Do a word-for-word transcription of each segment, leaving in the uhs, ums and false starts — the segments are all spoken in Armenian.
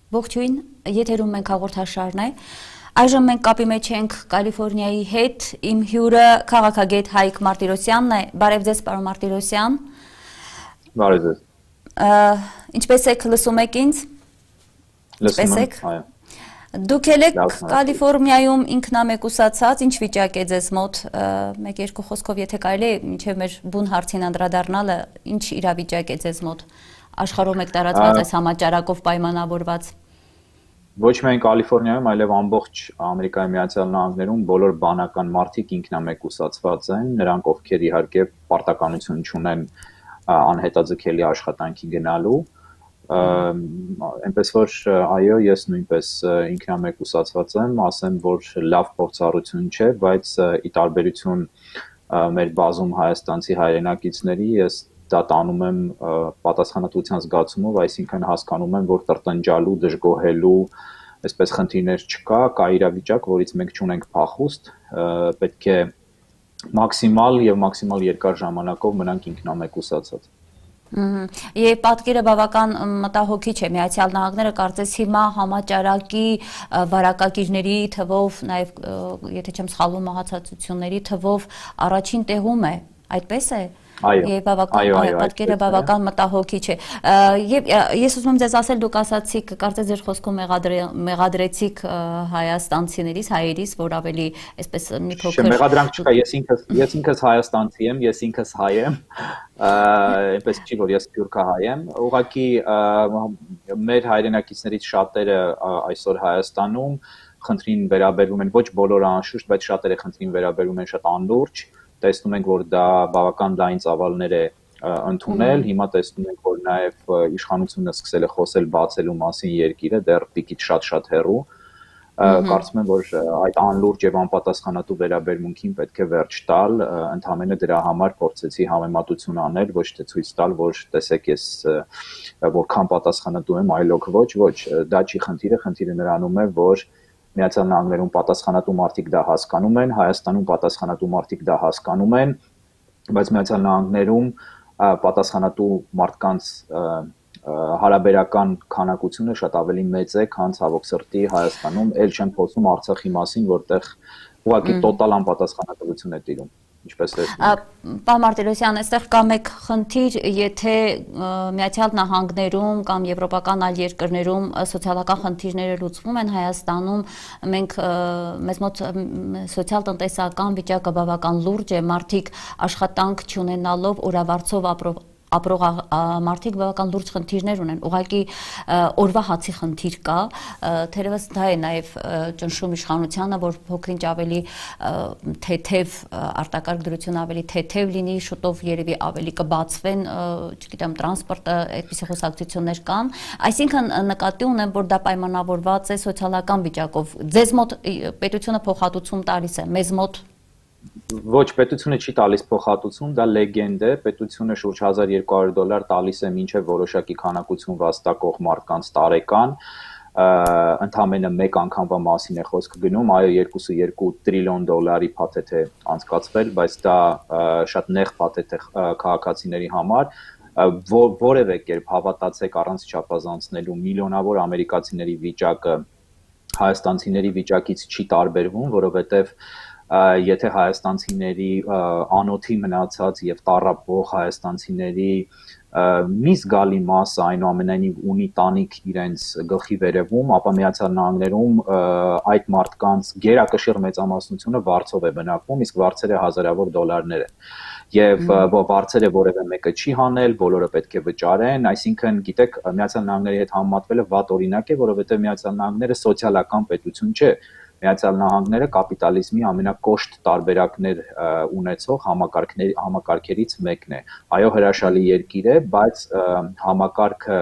Ողջույն, եթերում մենք հաղորդաշարն է։ Այժմ մենք կապի մեջ ենք Կալիֆոռնիայի հետ, իմ հյուրը քաղաքագետ Հայկ Մարտիրոսյանն է։ Բարև ձեզ, պարոն Մարտիրոսյան։ Բարև ձեզ։ Ինչպես եք, լսում եք ինձ։ Լսում եմ, այո։ Դուք եք Կալիֆոռնիայում ինքնամեկուսացած, ինչ վիճակ է ձեզ մոտ, մեկ-երկու խոսքով եթե կարելի է մինչև մեր բուն հարցին անդրադառնալը, ինչ իրավիճակ է ձեզ մոտ, աշխարհում եք տարածված այս համաճարակով պայմանավորված։ Ոչ միայն Կալիֆոռնիայում, այլև ամբողջ Ամերիկայի Միացյալ Նահանգներում բոլոր բանական մարդիկ ինքնամեկուսացված են, նրանք ովքեր իհարկե պարտականություն չունեն անհետաձգելի աշխատանքի գնալու, այնպես որ այո, ես նույնպես ինքնամեկուսացված եմ, ասեմ, որ լավ փորձառություն չէ, բայց ի տարբերություն մեր բազում հայաստանցի հայրենակիցների, ես դա տանում եմ պատասխանատվության զգացումով, այսինքն հասկանում եմ, որ տրտնջալու, դժգոհելու, այսպես խնդիրներ չկա, կա իրավիճակ, որից մենք չունենք փախուստ, պետք է մաքսիմալ եւ մաքսիմալ երկար ժամանակով մնանք ինքնամեկուսացած։ Եվ պատկերը բավական մտահոգիչ է, Միացյալ Նահանգները կարծես հիմա համաճարակի վարակագիրների թվով, նաև եթե չեմ սխալվում մահացածությունների թվով առաջին տեղում է, այդպես է։ Եվ պատկերը բավական մտահոգիչ է։ Եվ ես ուզում եմ ձեզ ասել, դուք ասացիք, կարծես ձեր խոսքում մեղադրեցիք հայաստանցիներից, հայերիս, որ ավելի այսպես մի փոքր։ Մեղադրանք չկա, ես ինքս հայաստանցի եմ, ես ինքս հայ եմ, այնպես չի, որ ես սփյուռքահայ եմ, ուղղակի մեր հայրենակիցներից շատերը այսօր Հայաստանում խնդրին վերաբերվում են, ոչ բոլորը անշուշտ, բայց շատերը խնդրին վերաբերվում են շատ անլուրջ, տեսնում ենք, որ դա բավական լայն ծավալներ է ընդունել, հիմա տեսնում ենք, որ նաև իշխանությունը սկսել է խոսել բացելու մասին երկիրը, դեռ պիկից շատ-շատ հեռու, կարծում եմ, որ այդ անլուրջ եւ անպատասխանատու վերաբերմունքին պետք է վերջ տալ, ընդհանրապես դրա համար փորձեցի համեմատություն անել, ոչ թե ցույց տալ, որ տեսեք ես որքան պատասխանատու եմ, այլոք ոչ, ոչ, դա չի խնդիրը, խնդիրը նրանում է, որ Միացյալ Նահանգներում պատասխանատու մարդիկ դա հասկանում են, Հայաստանում պատասխանատու մարդիկ դա հասկանում են, բայց Միացյալ Նահանգներում պատասխանատու մարդկանց հարաբերական քանակությունը շատ ավելի մեծ է, քան ցավոք սրտի Հայաստանում, ել չեմ խոսում Արցախի մասին, որտեղ ուղղակի տոտալ անպատասխանատվություն է տիրում։ Պարոն Մարտիրոսյան, այստեղ կա մեկ խնդիր, եթե Միացյալ Նահանգներում կամ եվրոպական այլ երկրներում սոցիալական խնդիրները լուծվում են, Հայաստանում մենք մեզ մոտ սոցիալ-տնտեսական վիճակը բավական լուրջ է, մարդիկ աշխատանք չունենալով օրավարձով ապրող ապրող մարդիկ բավական լուրջ խնդիրներ ունեն, ուղղակի օրվա հացի խնդիր կա, թերևս դա է նաև ճնշում իշխանությանը, որ փոքրինչ ավելի թեթև արտակարգ դրություն ավելի թեթև լինի, շուտով երևի ավելի կբացվեն, չգիտեմ, տրանսպորտը, այդպիսի խոսակցություններ կան, այսինքն նկատի ունեմ, որ դա պայմանավորված է սոցիալական վիճակով, ձեզ մոտ պետությունը փոխհատուցում տալիս է, մեզ մոտ Ոչ, պետությունը չի տալիս փոխհատուցում, դա լեգենդ է, պետությունը շուրջ հազար երկու հարյուր դոլար տալիս է մինչև որոշակի քանակություն վաստակող մարդկանց տարեկան, ընդամենը մեկ անգամվա մասին է խոսքը գնում, այո, երկուսը երկու տրիլիոն դոլարի փաթեթ է անցկացվել, բայց դա շատ նեղ փաթեթ է քաղաքացիների համար, որևէ կերպ հավատացեք առանց չափազանցնելու միլիոնավոր ամերիկացիների վիճակը հայաստանցիների վիճակից չի տարբերվում, որովհետև եթե հայաստանցիների անոթի մնացած եւ տառապող հայաստանցիների մի զգալի մասը այնուամենայնիվ ունի տանիք իրենց գլխի վերևում, ապա Միացյալ Նահանգներում այդ մարդկանց գերակշիռ մեծամասնությունը վարձով է բնակվում, իսկ վարձերը հազարավոր դոլարներ են։ Եվ վարձերը որևէ մեկը չի հանել, բոլորը պետք է վճարեն, այսինքն գիտեք, Միացյալ Նահանգների հետ համեմատվելը վատ օրինակ է, որովհետեւ Միացյալ Նահանգները սոցիալական պետություն չէ։ Միացյալ Նահանգները կապիտալիզմի ամենակոշտ տարբերակներ ունեցող համակարգների համակարգերից մեկն է։ Այո, հրաշալի երկիր է, բայց համակարգը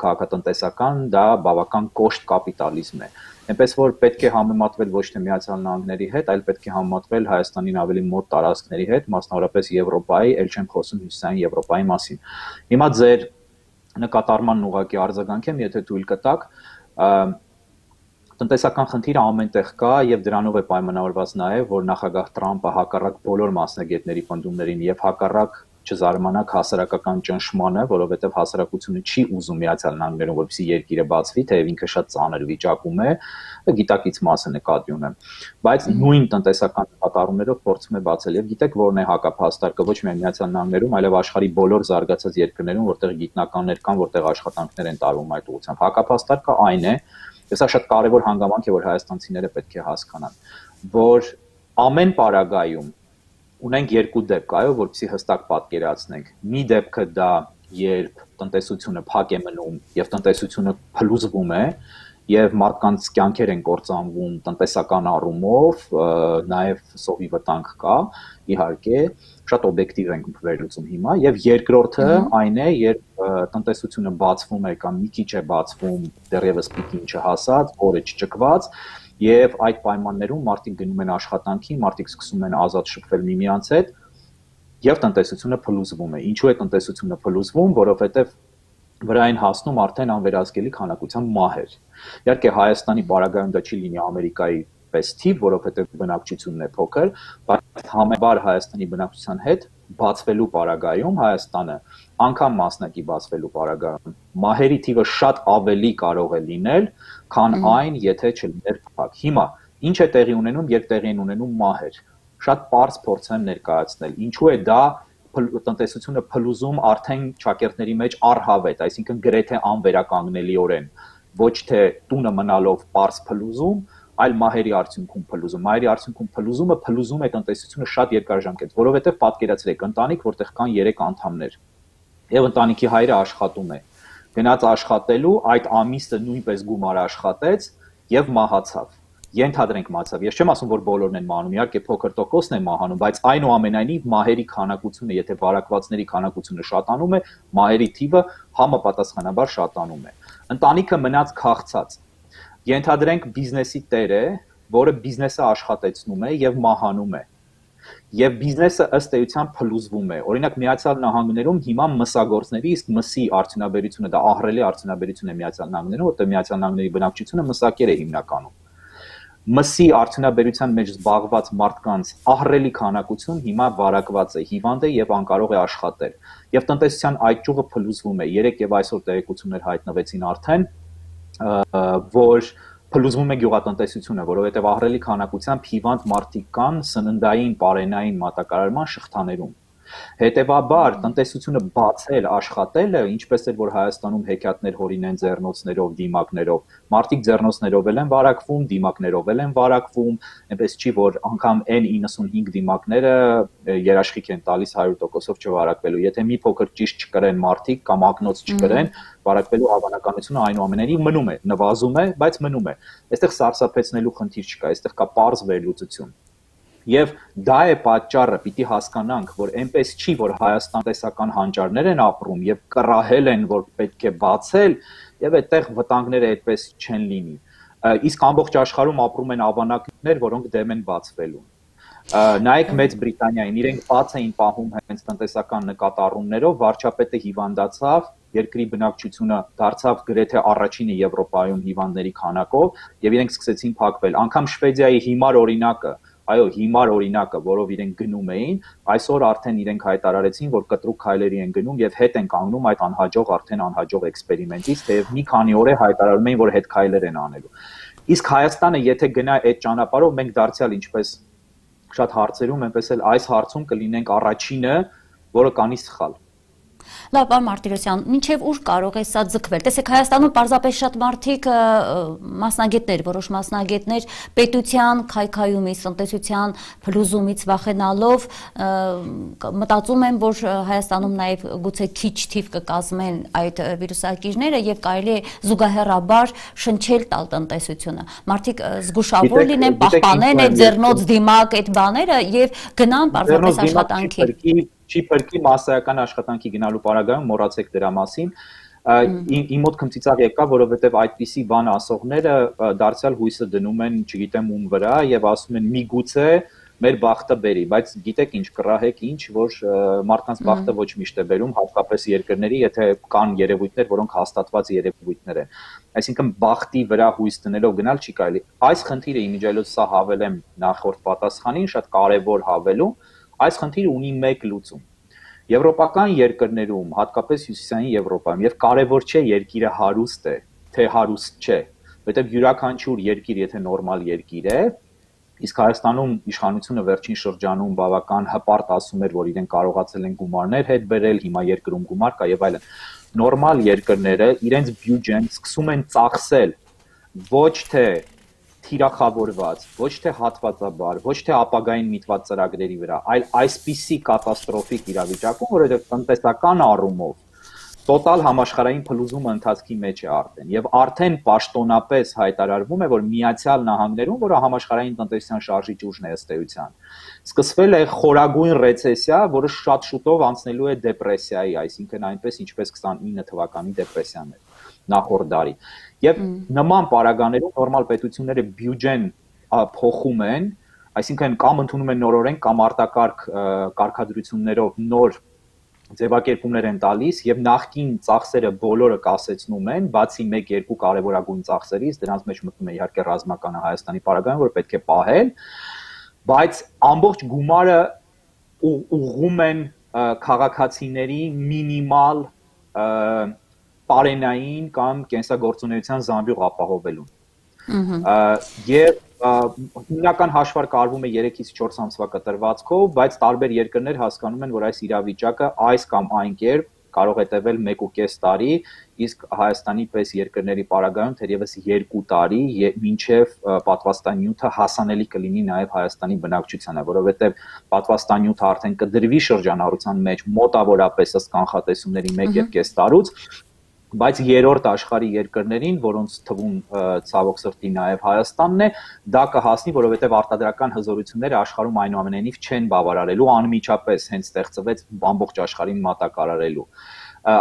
քաղաքատնտեսական դա բավական կոշտ կապիտալիզմ է։ Այնպես որ պետք է համեմատվել ոչ թե Միացյալ Նահանգների հետ, այլ պետք է համեմատվել Հայաստանին ավելի մոտ տարածքների հետ, մասնավորապես Եվրոպայի, ել չեմ խոսում Հյուսիսային Եվրոպայի մասին։ Հիմա ձեր նկատառմանն ուղղակի արձագանք եմ, եթե թույլ կտաք, տնտեսական խնդիրը ամենտեղ կա եւ դրանով է պայմանավորված նաեւ, որ նախագահ Տրամպը հակառակ բոլոր մասնագետների պնդումներին եւ հակառակ չզարմանաք հասարակական ճնշմանը, որովհետև հասարակությունը չի ուզում Միացյալ Նահանգներում, որպեսզի երկիրը բացվի, թեև ինքը շատ ծանր վիճակում է, գիտակից մասը նկատի ունեմ, բայց նույն տնտեսական նկատառումներով փորձում է բացել եւ գիտեք որն է հակափաստարկը ոչ միայն Միացյալ Նահանգներում, այլև աշխարհի բոլոր զարգացած երկրներում, որտեղ գիտնականներ կան, որտեղ աշխատանքներ են տարվում այդ ուղղությամբ։ Հակափաստարկը այն է, եւ սա շատ կարեւոր հանգամանք է, որ հայաստանցիները պետք է հասկանան, որ ամեն պարագայում ունենք երկու դեպք, այո, որպեսզի հստակ պատկերացնենք։ Մի դեպքը դա երբ տնտեսությունը փակ է մնում եւ տնտեսությունը փլուզվում է եւ մարդկանց կյանքեր են կործանվում տնտեսական առումով, նաեւ սովի վտանգ կա, իհարկե, շատ օբյեկտիվ ենք վերլուծում հիմա եւ երկրորդը այն է, երբ տնտեսությունը բացվում է կամ մի քիչ է բացվում, դեռևս պիկին չհասած, օրը չճկված եւ այդ պայմաններում մարդիկ գնում են աշխատանքի, մարդիկ սկսում են ազատ շփվել միմյանց հետ եւ տնտեսությունը փլուզվում է։ Ինչու է տնտեսությունը փլուզվում, որովհետեւ վրային հասնում արդեն անվերահսկելի քանակությամբ մահեր։ Իհարկե Հայաստանի բարագայում դա չի լինի Ամերիկայի պես թիվ, որովհետեւ բնակչությունն է փոքր, բայց համեմատաբար Հայաստանի բնակչության հետ բացվելու պարագայում Հայաստանը անգամ մասնակի բացվելու պարագայում մահերի թիվը շատ ավելի կարող է լինել, քան այն, եթե չլիներ փակ։ Հիմա ինչ է տեղի ունենում, երբ տեղի են ունենում մահեր։ Շատ པարզ փորձեմ ներկայացնել։ Ինչու է դա տնտեսությունը փլուզում արդեն ճակերտների մեջ առհավետ, այսինքն գրեթե անվերականգնելիորեն, ոչ թե տունը մնալով པարզ փլուզում, այլ մահերի արդյունքում փլուզում։ Մահերի արդյունքում փլուզումը փլուզում է տնտեսությունը շատ երկարաժամկետ, որովհետև պատկերացրեք ընտանիք, որտեղ կան երեք անդամներ, եւ ընտանիքի հայրը աշխատում է։ Գնաց աշխատելու, այդ ամիսը նույնպես գումար աշխատեց եւ մահացավ։ Ենթադրենք մահացավ։ Ես չեմ ասում, որ բոլորն են մահանում, իհարկե փոքր տոկոսն է մահանում, բայց այնուամենայնիվ մահերի քանակությունը, եթե վարակվածների քանակությունը շատանում է, մահերի թիվը համապատասխանաբար շատանում է։ Ընտանիքը մնաց քաղցած։ Ենթադրենք բիզնեսի տեր է, որը բիզնեսը աշխատեցնում է եւ մահանում է։ Եվ բիզնեսը ըստ էության փլուզվում է։ Օրինակ Միացյալ Նահանգներում հիմա մսագործների, իսկ մսի արդյունաբերությունը դա ահռելի արդյունաբերություն է Միացյալ Նահանգներում, որտեղ Միացյալ Նահանգների բնակչությունը մսակեր է հիմնականում։ Մսի արդյունաբերության մեջ զբաղված մարդկանց ահռելի քանակություն հիմա վարակված է, հիվանդ է եւ անկարող է աշխատել։ Եվ տնտեսության այդ ճյուղը փլուզվում է։ Երեք եւ այսօր տեղեկություններ հայտնվեցին արդեն, որ փլուզվում է գյուղատնտեսությունը, որովհետեւ ահռելի քանակությամբ հիվանդ մարդիկ կան սննդային, պարենային մատակարարման շղթաներում։ Հետևաբար տնտեսությունը բացել, աշխատելը, ինչպես էր որ Հայաստանում հեքիաթներ հորինեն ձեռնոցներով, դիմակներով, մարդիկ ձեռնոցներով են վարակվում, դիմակներով են վարակվում, այնպես չի որ անգամ N իննսունհինգ դիմակները երաշխիք են տալիս հարյուր տոկոսով չվարակվելու։ Եթե մի փոքր ճիշտ չկրեն մարդիկ կամ ակնոց չկրեն, վարակվելու հավանականությունը այնուամենայնիվ մնում է, նվազում է, բայց մնում է։ Այստեղ սարսափեցնելու խնդիր չկա, այստեղ կա պարզ վերլուծություն։ Եվ դա է պատճառը, պիտի հասկանանք, որ այնպես չի, որ Հայաստան տեսական հանճարներ են ապրում եւ կռահել են, որ պետք է բացել, եւ այդտեղ վտանգները այդպես չեն լինի։ Իսկ ամբողջ աշխարհում ապրում են ավանակներ, որոնք դեմ են բացվելու։ Նայեք Մեծ Բրիտանիային, իրենք բաց էին պահում հենց տնտեսական նկատառումներով, վարչապետը հիվանդացավ, երկրի բնակչությունը դարձավ գրեթե առաջինը Եվրոպայում հիվանդների քանակով եւ իրենք սկսեցին փակվել։ Անկամ Շվեդիայի հիմար օրինակը Այո, հիմար օրինակը, որով իրենք գնում էին, այսօր արդեն իրենք հայտարարեցին, որ կտրուկ քայլերի են գնում եւ հետ են կանգնում այդ անհաջող արդեն անհաջող էքսպերիմենտից, թեև մի քանի օր է հայտարարում էին, որ հետ քայլեր են անելու։ Իսկ Հայաստանը, եթե գնա այդ ճանապարհով, մենք դարձյալ ինչպես շատ հարցերում, այնպես էլ այս հարցում կլինենք առաջինը, որը կանի սխալ։ Լավ, պարոն Մարտիրոսյան, մինչև ուր կարող է սա ձգվել։ Տեսեք, Հայաստանում պարզապես շատ մարդիկ մասնագետներ, որոշ մասնագետներ պետության քայքայումից, տնտեսության փլուզումից վախենալով մտածում են, որ Հայաստանում նաև գուցե քիչ թիվ կկազմեն այդ վիրուսակիրները եւ կարելի է զուգահեռաբար շնչել տալ տնտեսությունը։ Մարդիկ զգուշավոր լինեն, պահպանեն այդ ձեռնոց դիմակ այդ բաները եւ գնան պարզապես աշխատանքի։ Չի փրկի մասսայական աշխատանքի գնալու պարագայում մոռացեք դրա մասին։ Իմ մոտ քմծիծաղ եկավ, որովհետև այդպիսի բան ասողները դարձյալ հույսը դնում են, չգիտեմ ում վրա եւ ասում են միգուցե մեր բախտը բերի, բայց գիտեք ինչ, կռահեք ինչ, որ մարդկանց բախտը ոչ միշտ է բերում, հատկապես երկրների, եթե կան երևույթներ, որոնք հաստատված երևույթներ են։ Այսինքն բախտի վրա հույս դնելով գնալ չի կարելի։ Այս խնդիրը իմիջիայլոց սա հավելեմ նախորդ պատասխանին, շատ կարևոր հավելում, այս խնդիրը ունի մեկ լուծում։ Եվրոպական երկրներում, հատկապես հյուսիսային Եվրոպայում, եւ կարևոր չէ երկիրը հարուստ է, թե հարուստ չէ, որտեղ յուրաքանչյուր երկիր, եթե նորմալ երկիր է, իսկ Հայաստանում իշխանությունը վերջին շրջանում բավական հպարտ ասում էր, որ իրեն կարողացել են գումարներ հետ բերել, հիմա երկրում գումար կա եւ այլն։ Նորմալ երկրները իրենց բյուջեն սկսում են ծախսել ոչ թե թիրախավորված, ոչ թե հատվածաբար, ոչ թե ապագային միտված ծրագրերի վրա, այլ այսպիսի կատաստրոֆիկ իրավիճակում, որովհետև տնտեսական առումով տոտալ համաշխարհային փլուզումը ընթացքի մեջ է արդեն եւ արդեն պաշտոնապես հայտարարվում է, որ Միացյալ Նահանգներում, որը համաշխարհային տնտեսության շարժիչ ուժն է ըստ էության, սկսվել է խորագույն ռեցեսիա, որը շատ շուտով անցնելու է դեպրեսիայի, այսինքն այնպես ինչպես քսանինը թվականի դեպրեսիան էր նախորդ դարի։ Եվ նման պարագաներում նորմալ պետությունները բյուջեն փոխում են, այսինքն կամ ընդունում են նորորեն կամ արտակարգ կարգադրություններով նոր ձևակերպումներ են տալիս եւ նախկին ծախսերը բոլորը կասեցնում են, բացի մեկ-երկու կարևորագույն ծախսերից, դրանց մեջ մտնում է իհարկե ռազմականը Հայաստանի պարագայում, որ պետք է պահել, բայց ամբողջ գումարը ուղղում են քաղաքացիների մինիմալ պարենային կամ կենսագործունեության զամբյուղ ապահովելուն։ Եվ հիմնական հաշվարկ արվում է երեքից չորս ամսվա կտրվածքով, բայց տարբեր երկրներ հասկանում են, որ այս իրավիճակը այս կամ այն կերպ կարող է տևել մեկ ու կես տարի, իսկ Հայաստանի պես երկրների պարագայում թերևս երկու տարի, մինչև պատվաստանյութը հասանելի կլինի նաև Հայաստանի բնակչությանը, որովհետև պատվաստանյութը արդեն կդրվի շրջանառության մեջ մոտավորապես ըստ կանխատեսումների մեկ եւ կես տարուց, բայց երրորդ աշխարհի երկրներին, որոնց թվում ցավոք սրտի նաև Հայաստանն է, դա կհասնի, որովհետև արտադրական հզորությունները աշխարհում այնուամենայնիվ չեն բավարարելու, անմիջապես հենց ստեղծվեց ամբողջ աշխարհին մատակարարելու։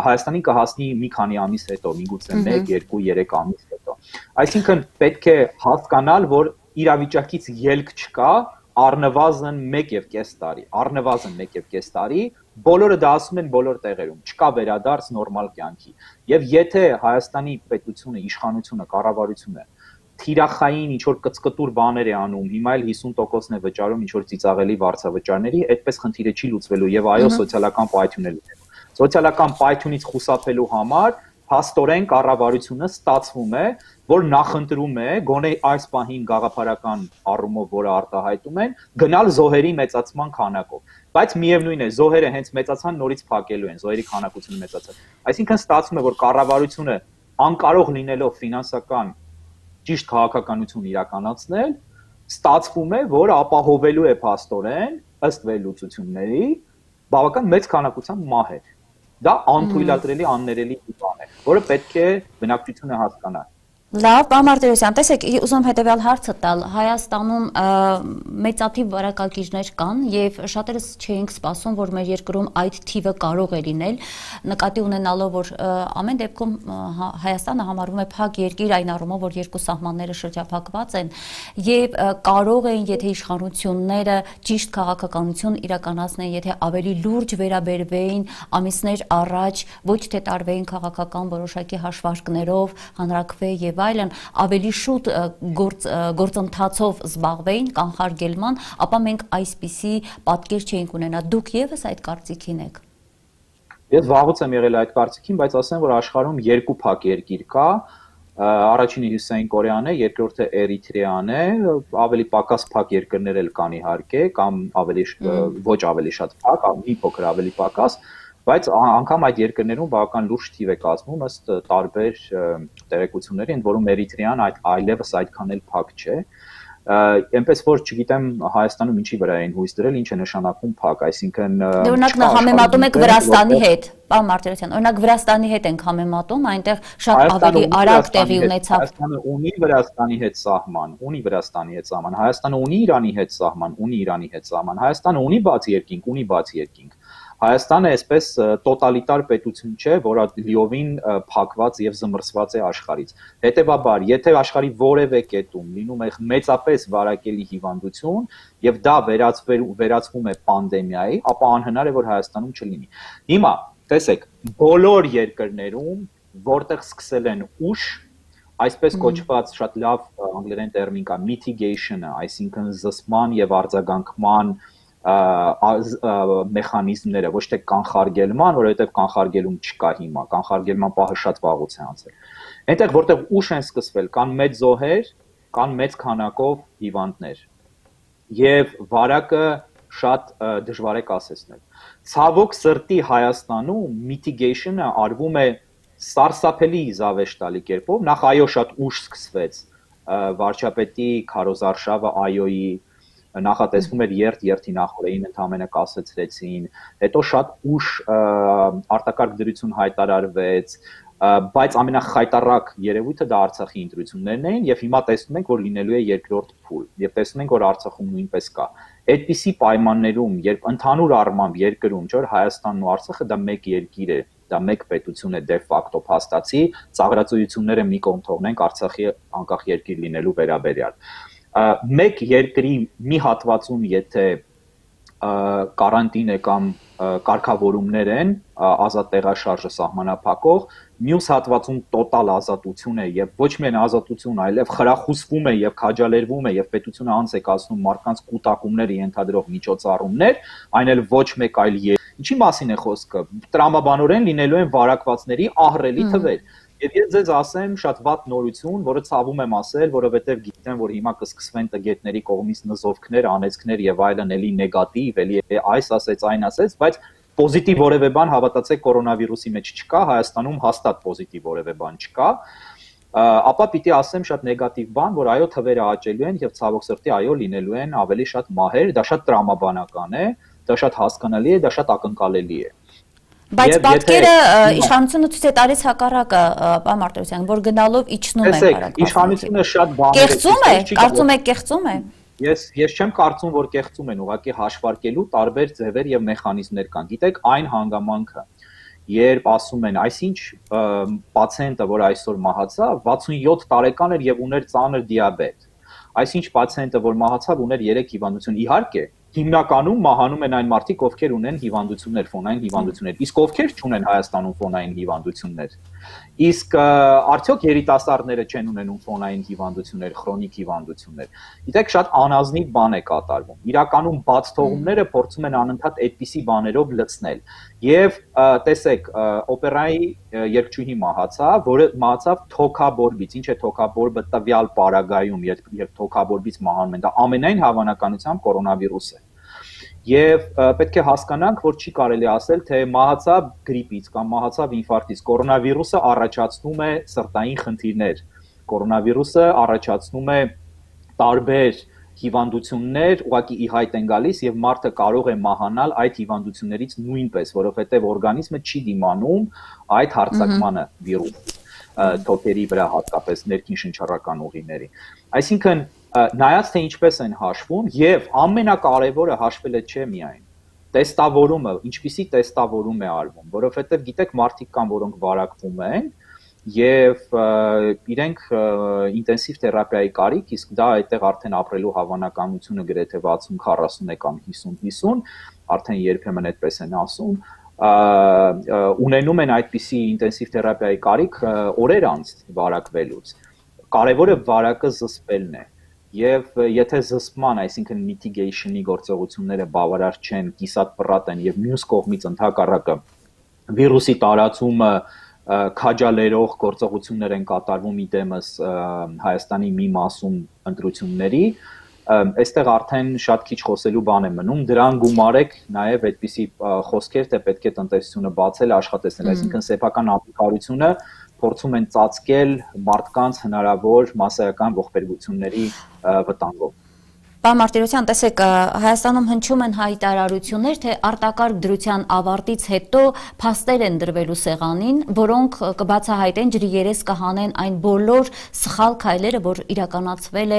Հայաստանին կհասնի մի քանի ամիս հետո, միգուցե մեկ, երկու, երեք ամիս հետո։ Այսինքն պետք է հասկանալ, որ իրավիճակից ելք չկա, առնվազն մեկ եւ կես տարի, առնվազն մեկ եւ կես տարի, բոլորը դա ասում են բոլոր տեղերում, չկա վերադարձ նորմալ կյանքի։ Եվ եթե Հայաստանի պետությունը, իշխանությունը, կառավարությունը թիրախային ինչ-որ կծկտուր բաներ է անում, հիմա էլ հիսուն տոկոսն է վճարում ինչ-որ ծիծաղելի վարձավճարների, այդպես խնդիրը չի լուծվելու եւ այո, սոցիալական պայթյուն է լինելու։ Սոցիալական պայթյունից խուսափելու համար փաստորեն կառավարությունը ստացվում է, որ նախընտրում է գոնե այս պահին գաղափարական առումով, որը արտահայտում են, գնալ զոհերի մեծացման քանակով։ Բայց միևնույն է, զոհերը հենց մեծացան, նորից փակելու են, զոհերի քանակությունը մեծացավ։ Այսինքն ստացվում է, որ կառավարությունը անկարող լինելով ֆինանսական ճիշտ քաղաքականություն իրականացնել, ստացվում է, որ ապահովելու է փաստորեն ըստ վերլուծությունների բավական մեծ քանակությամբ մահեր։ Դա անթույլատրելի, աններելի բան է, որը պետք է բնակչությունը հասկանա։ Լավ, պարոն Մարտիրոսյան, տեսեք, ուզում հետևյալ հարցը տալ, Հայաստանում մեծաթիվ վարակագիրներ կան եւ շատերս չէինք սպասում, որ մեր երկրում այդ թիվը կարող է լինել, նկատի ունենալով, որ ամեն դեպքում Հայաստանը համարվում է փակ երկիր այն առումով, որ երկու սահմանները շրջափակված են եւ կարող են, եթե իշխանությունները ճիշտ քաղաքականություն իրականացնեն, եթե ավելի լուրջ վերաբերվեին ամիսներ առաջ, ոչ թե տարվեին քաղաքական որոշակի հաշվարկներով, հանրակրվե եւ այլն, ավելի շուտ գործ, գործընթացով զբաղվեին կանխարգելման, ապա մենք այսպիսի պատկեր չէինք ունենա։ Դուք եւս այդ կարծիքին եք։ Ես վաղուց եմ եղել այդ կարծիքին, բայց ասեմ, որ աշխարհում երկու փակ երկիր կա, առաջինը Հյուսիսային Կորեան է, երկրորդը Էրիթրեան է, ավելի պակաս փակ երկրներ էլ կան իհարկե, կամ ավելի ոչ ավելի շատ փակ, մի փոքր ավելի պակաս, բայց անգամ այդ երկրներում բավական լուրջ թիվ է կազմում ըստ տարբեր տեղեկությունների, ընդ որում Էրիթրեան այդ այլևս այդքան էլ փակ չէ, այնպես որ չգիտեմ Հայաստանում ինչի վրա են հույս դրել, ինչ է նշանակում փակ, այսինքն օրինակ համեմատում եք Վրաստանի հետ, պարոն Մարտիրոսյան, օրինակ Վրաստանի հետ ենք համեմատում, այնտեղ շատ ավելի արագ տեղի ունեցավ։ Հայաստանը ունի Վրաստանի հետ սահման, ունի Վրաստանի հետ սահման, Հայաստանը ունի Իրանի հետ սահման, ունի Իրանի հետ սահման, Հայաստանը ունի բաց երկինք, ունի բաց երկինք։ Հայաստանը այսպես տոտալիտար պետություն չէ, որը լիովին փակված եւ զմռսված է աշխարհից։ Հետևաբար, եթե աշխարհի որևէ կետում լինում է մեծապես վարակելի հիվանդություն եւ դա վերածվում է պանդեմիայի, ապա անհնար է, որ Հայաստանում չլինի։ Հիմա, տեսեք, բոլոր երկրներում, որտեղ սկսել են ուշ, այսպես կոչված շատ լավ անգլերեն տերմին կա mitigation-ը, այսինքն զսպման եւ արձագանքման մեխանիզմները, ոչ թե կանխարգելման, որովհետև կանխարգելում չկա հիմա, կանխարգելման պահը շատ վաղուց է անցել։ Այնտեղ որտեղ ուշ են սկսվել, կան մեծ զոհեր, կան մեծ քանակով հիվանդներ։ Եվ վարակը շատ դժվար է կասեցնել։ Ցավոք սրտի Հայաստանում mitigation-ը արվում է սարսափելի զավեշտալի կերպով, նախ այո շատ ուշ սկսվեց վարչապետի քարոզարշավը այոյի նախատեսվում էր երթ երթի նախորդին ընդհանրապես կասեցրեցին, հետո շատ ուշ արտակարգ դրություն հայտարարվեց, բայց ամենախայտառակ երևույթը դա Արցախի ընտրություններն էին եւ հիմա տեսնում ենք, որ լինելու է երկրորդ փուլ եւ տեսնում ենք, որ Արցախում նույնպես կա։ Այդպիսի պայմաններում, երբ ընդհանուր առմամբ երկրում, չէ՞ Հայաստանն ու Արցախը դա մեկ երկիր է, դա մեկ պետություն է դե ֆակտո փաստացի, ծաղրածությունները մի կողմ թողնենք Արցախի անկախ երկիր լինելու վերաբերյալ։ Մեկ երկրի մի հատվածում, եթե կարանտին է կամ կարգավորումներ են, ազատ տեղաշարժը սահմանափակող, մյուս հատվածում տոտալ ազատություն է եւ ոչ միայն ազատություն, այլև խրախուսվում է եւ քաջալերվում է եւ պետությունը անց է կացնում մարդկանց կուտակումները ենթադրող միջոցառումներ, այն էլ ոչ մեկ այլ Ինչի մասին է խոսքը։ Տրամաբանորեն լինելու են վարակվածների ահռելի թվեր։ Եվ ես ձեզ ասեմ շատ վատ նորություն, որը ցավում եմ ասել, որովհետև գիտեմ, որ հիմա կսկսվեն տգետների կողմից նզովքներ, անեծքներ եւ այլն, էլի նեգատիվ, էլի այս ասեց, այն ասեց, բայց պոզիտիվ որևէ բան հավատացեք կորոնավիրուսի մեջ չկա, Հայաստանում հաստատ պոզիտիվ որևէ բան չկա, ապա պիտի ասեմ շատ նեգատիվ բան, որ այո թվերը աճելու են եւ ցավոք սրտի այո լինելու են ավելի շատ մահեր, դա շատ տրամաբանական է, դա շատ հասկանալի է, դա շատ ակնկալելի է։ Բայց պատկերը իշխանությունը ցույց է տալիս հակառակը, պարոն Մարտիրոսյան, որ գնալով իջնում են վարակվածները։ Իշխանությունը շատ բաներ կեղծում է, կարծում եք կեղծում է։ Ես ես չեմ կարծում, որ կեղծում են, ուղղակի հաշվարկելու տարբեր ձևեր եւ մեխանիզմներ կան։ Գիտեք, այն հանգամանքը, երբ ասում են, այսինչ պացիենտը, որ այսօր մահացավ, վաթսունյոթ տարեկան էր եւ ուներ ծանր դիաբետ։ Այսինչ պացիենտը, որ մահացավ, ուներ երեք հիվանդություն։ Իհարկե, հիմնականում մահանում են այն մարդիկ, ովքեր ունեն հիվանդություններ, ֆոնային հիվանդություններ, իսկ ովքեր չունեն Հայաստանում ֆոնային հիվանդություններ։ Իսկ արդյոք երիտասարդները չեն ունենում ֆոնային հիվանդություններ, քրոնիկ հիվանդություններ։ Գիտեք, շատ անազնիվ բան է կատարվում։ Իրականում բաց թողումները փորձում են անընդհատ այդպիսի բաներով լցնել։ Եվ տեսեք, օպերայի երգչուհի մահացավ, որը մահացավ թոքաբորբից։ Ինչ է թոքաբորբը տվյալ պարագայում, երբ թոքաբորբից մահանում են, դա ամենայն հավանականությամբ կորոնավիրուս է։ Եվ պետք է հասկանանք, որ չի կարելի ասել, թե մահացավ գրիպից կամ մահացավ ինֆարկտից, կորոնավիրուսը առաջացնում է սրտային խնդիրներ, կորոնավիրուսը առաջացնում է տարբեր հիվանդություններ, ուղղակի ի հայտ են գալիս եւ մարդը կարող է մահանալ այդ հիվանդություններից նույնպես, որովհետեւ օրգանիզմը չի դիմանում այդ հարձակմանը վիրուսի, թոքերի վրա հատկապես ներքին շնչառական ուղիների։ Այսինքն նայած թե ինչպես են հաշվում եւ ամենակարևորը հաշվելը չէ միայն տեստավորումը, ինչպիսի տեստավորում է արվում, որովհետեւ գիտեք մարդիկ կան, որոնք վարակվում են եւ իրենք ինտենսիվ թերապիայի կարիք, իսկ դա այդտեղ արդեն ապրելու հավանականությունը գրեթե վաթսուն քառասուն է կամ հիսուն հիսուն, արդեն երբեմն այդպես են ասում, ունենում են այդպիսի ինտենսիվ թերապիայի կարիք օրեր անց վարակվելուց։ Կարևորը վարակը զսպելն է։ Եվ եթե զսպման, այսինքն mitigation-ի գործողությունները բավարար չեն, կիսատ պռատ են եւ մյուս կողմից ընդհակառակը վիրուսի տարածումը քաջալերող գործողություններ են կատարվում իդեմս Հայաստանի մի մասում ընտրությունների, այստեղ արդեն շատ քիչ խոսելու բան է մնում, դրան գումարեք նաև այդպիսի խոսքեր, թե պետք է տնտեսությունը բացել, աշխատեցնել, այսինքն սեփական ապիկարությունը փորձում են ծածկել մարդկանց հնարավոր մասսայական ողբերգությունների վտանգով։ Պարոն Մարտիրոսյան, տեսեք, Հայաստանում հնչում են հայտարարություններ, թե արտակարգ դրության ավարտից հետո փաստեր են դրվելու սեղանին, որոնք կբացահայտեն, ջրի երես կհանեն այն բոլոր սխալ քայլերը, որ իրականացվել է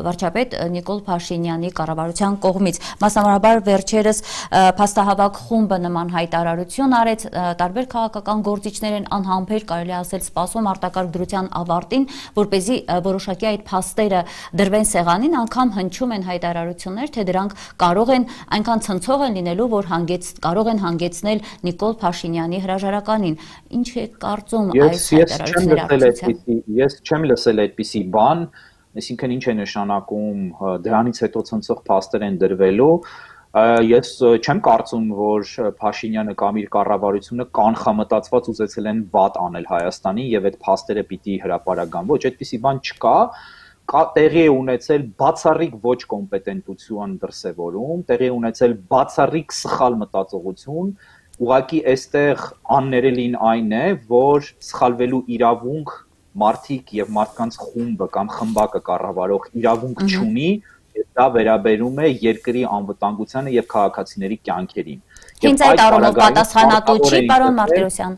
վարչապետ Նիկոլ Փաշինյանի կառավարության կողմից։ Մասնավորաբար վերջերս փաստահավաք խումբը նման հայտարարություն արեց, տարբեր քաղաքական գործիչներ են անհամբեր կարելի ասել սպասում արտակարգ դրության ավարտին, որպեսզի որոշակի այդ փաստերը դրվեն սեղանին, անգամ հնչում են հայտարարություններ, թե դրանք կարող են այնքան ցնցող են լինելու, որ հանգեց կարող են հանգեցնել Նիկոլ Փաշինյանի հրաժարականին։ Ինչ է կարծում այս հայտարարությունների։ Ես չեմ լսել այդպիսի բան, այսինքն ինչ է նշանակում դրանից հետո ցնցող փաստեր են դրվելու։ Ես չեմ կարծում, որ Փաշինյանը կամ իր կառավարությունը կանխամտածված ուզեցել են վատ անել Հայաստանին եւ այդ փաստերը պիտի հրապարական։ Ոչ, այդպիսի բան չկա։ Տեղի է ունեցել բացառիկ ոչ կոմպետենտություն դրսևորում, տեղի է ունեցել բացառիկ սխալ մտածողություն, ուղղակի այստեղ աններելին այն է, որ սխալվելու իրավունք մարդիկ եւ մարդկանց խումբը կամ խմբակը կառավարող իրավունք չունի, եւ դա վերաբերում է երկրի անվտանգությանը եւ քաղաքացիների կյանքերին։ Հենց այդ առումով պատասխանատու չի, պարոն Մարտիրոսյան։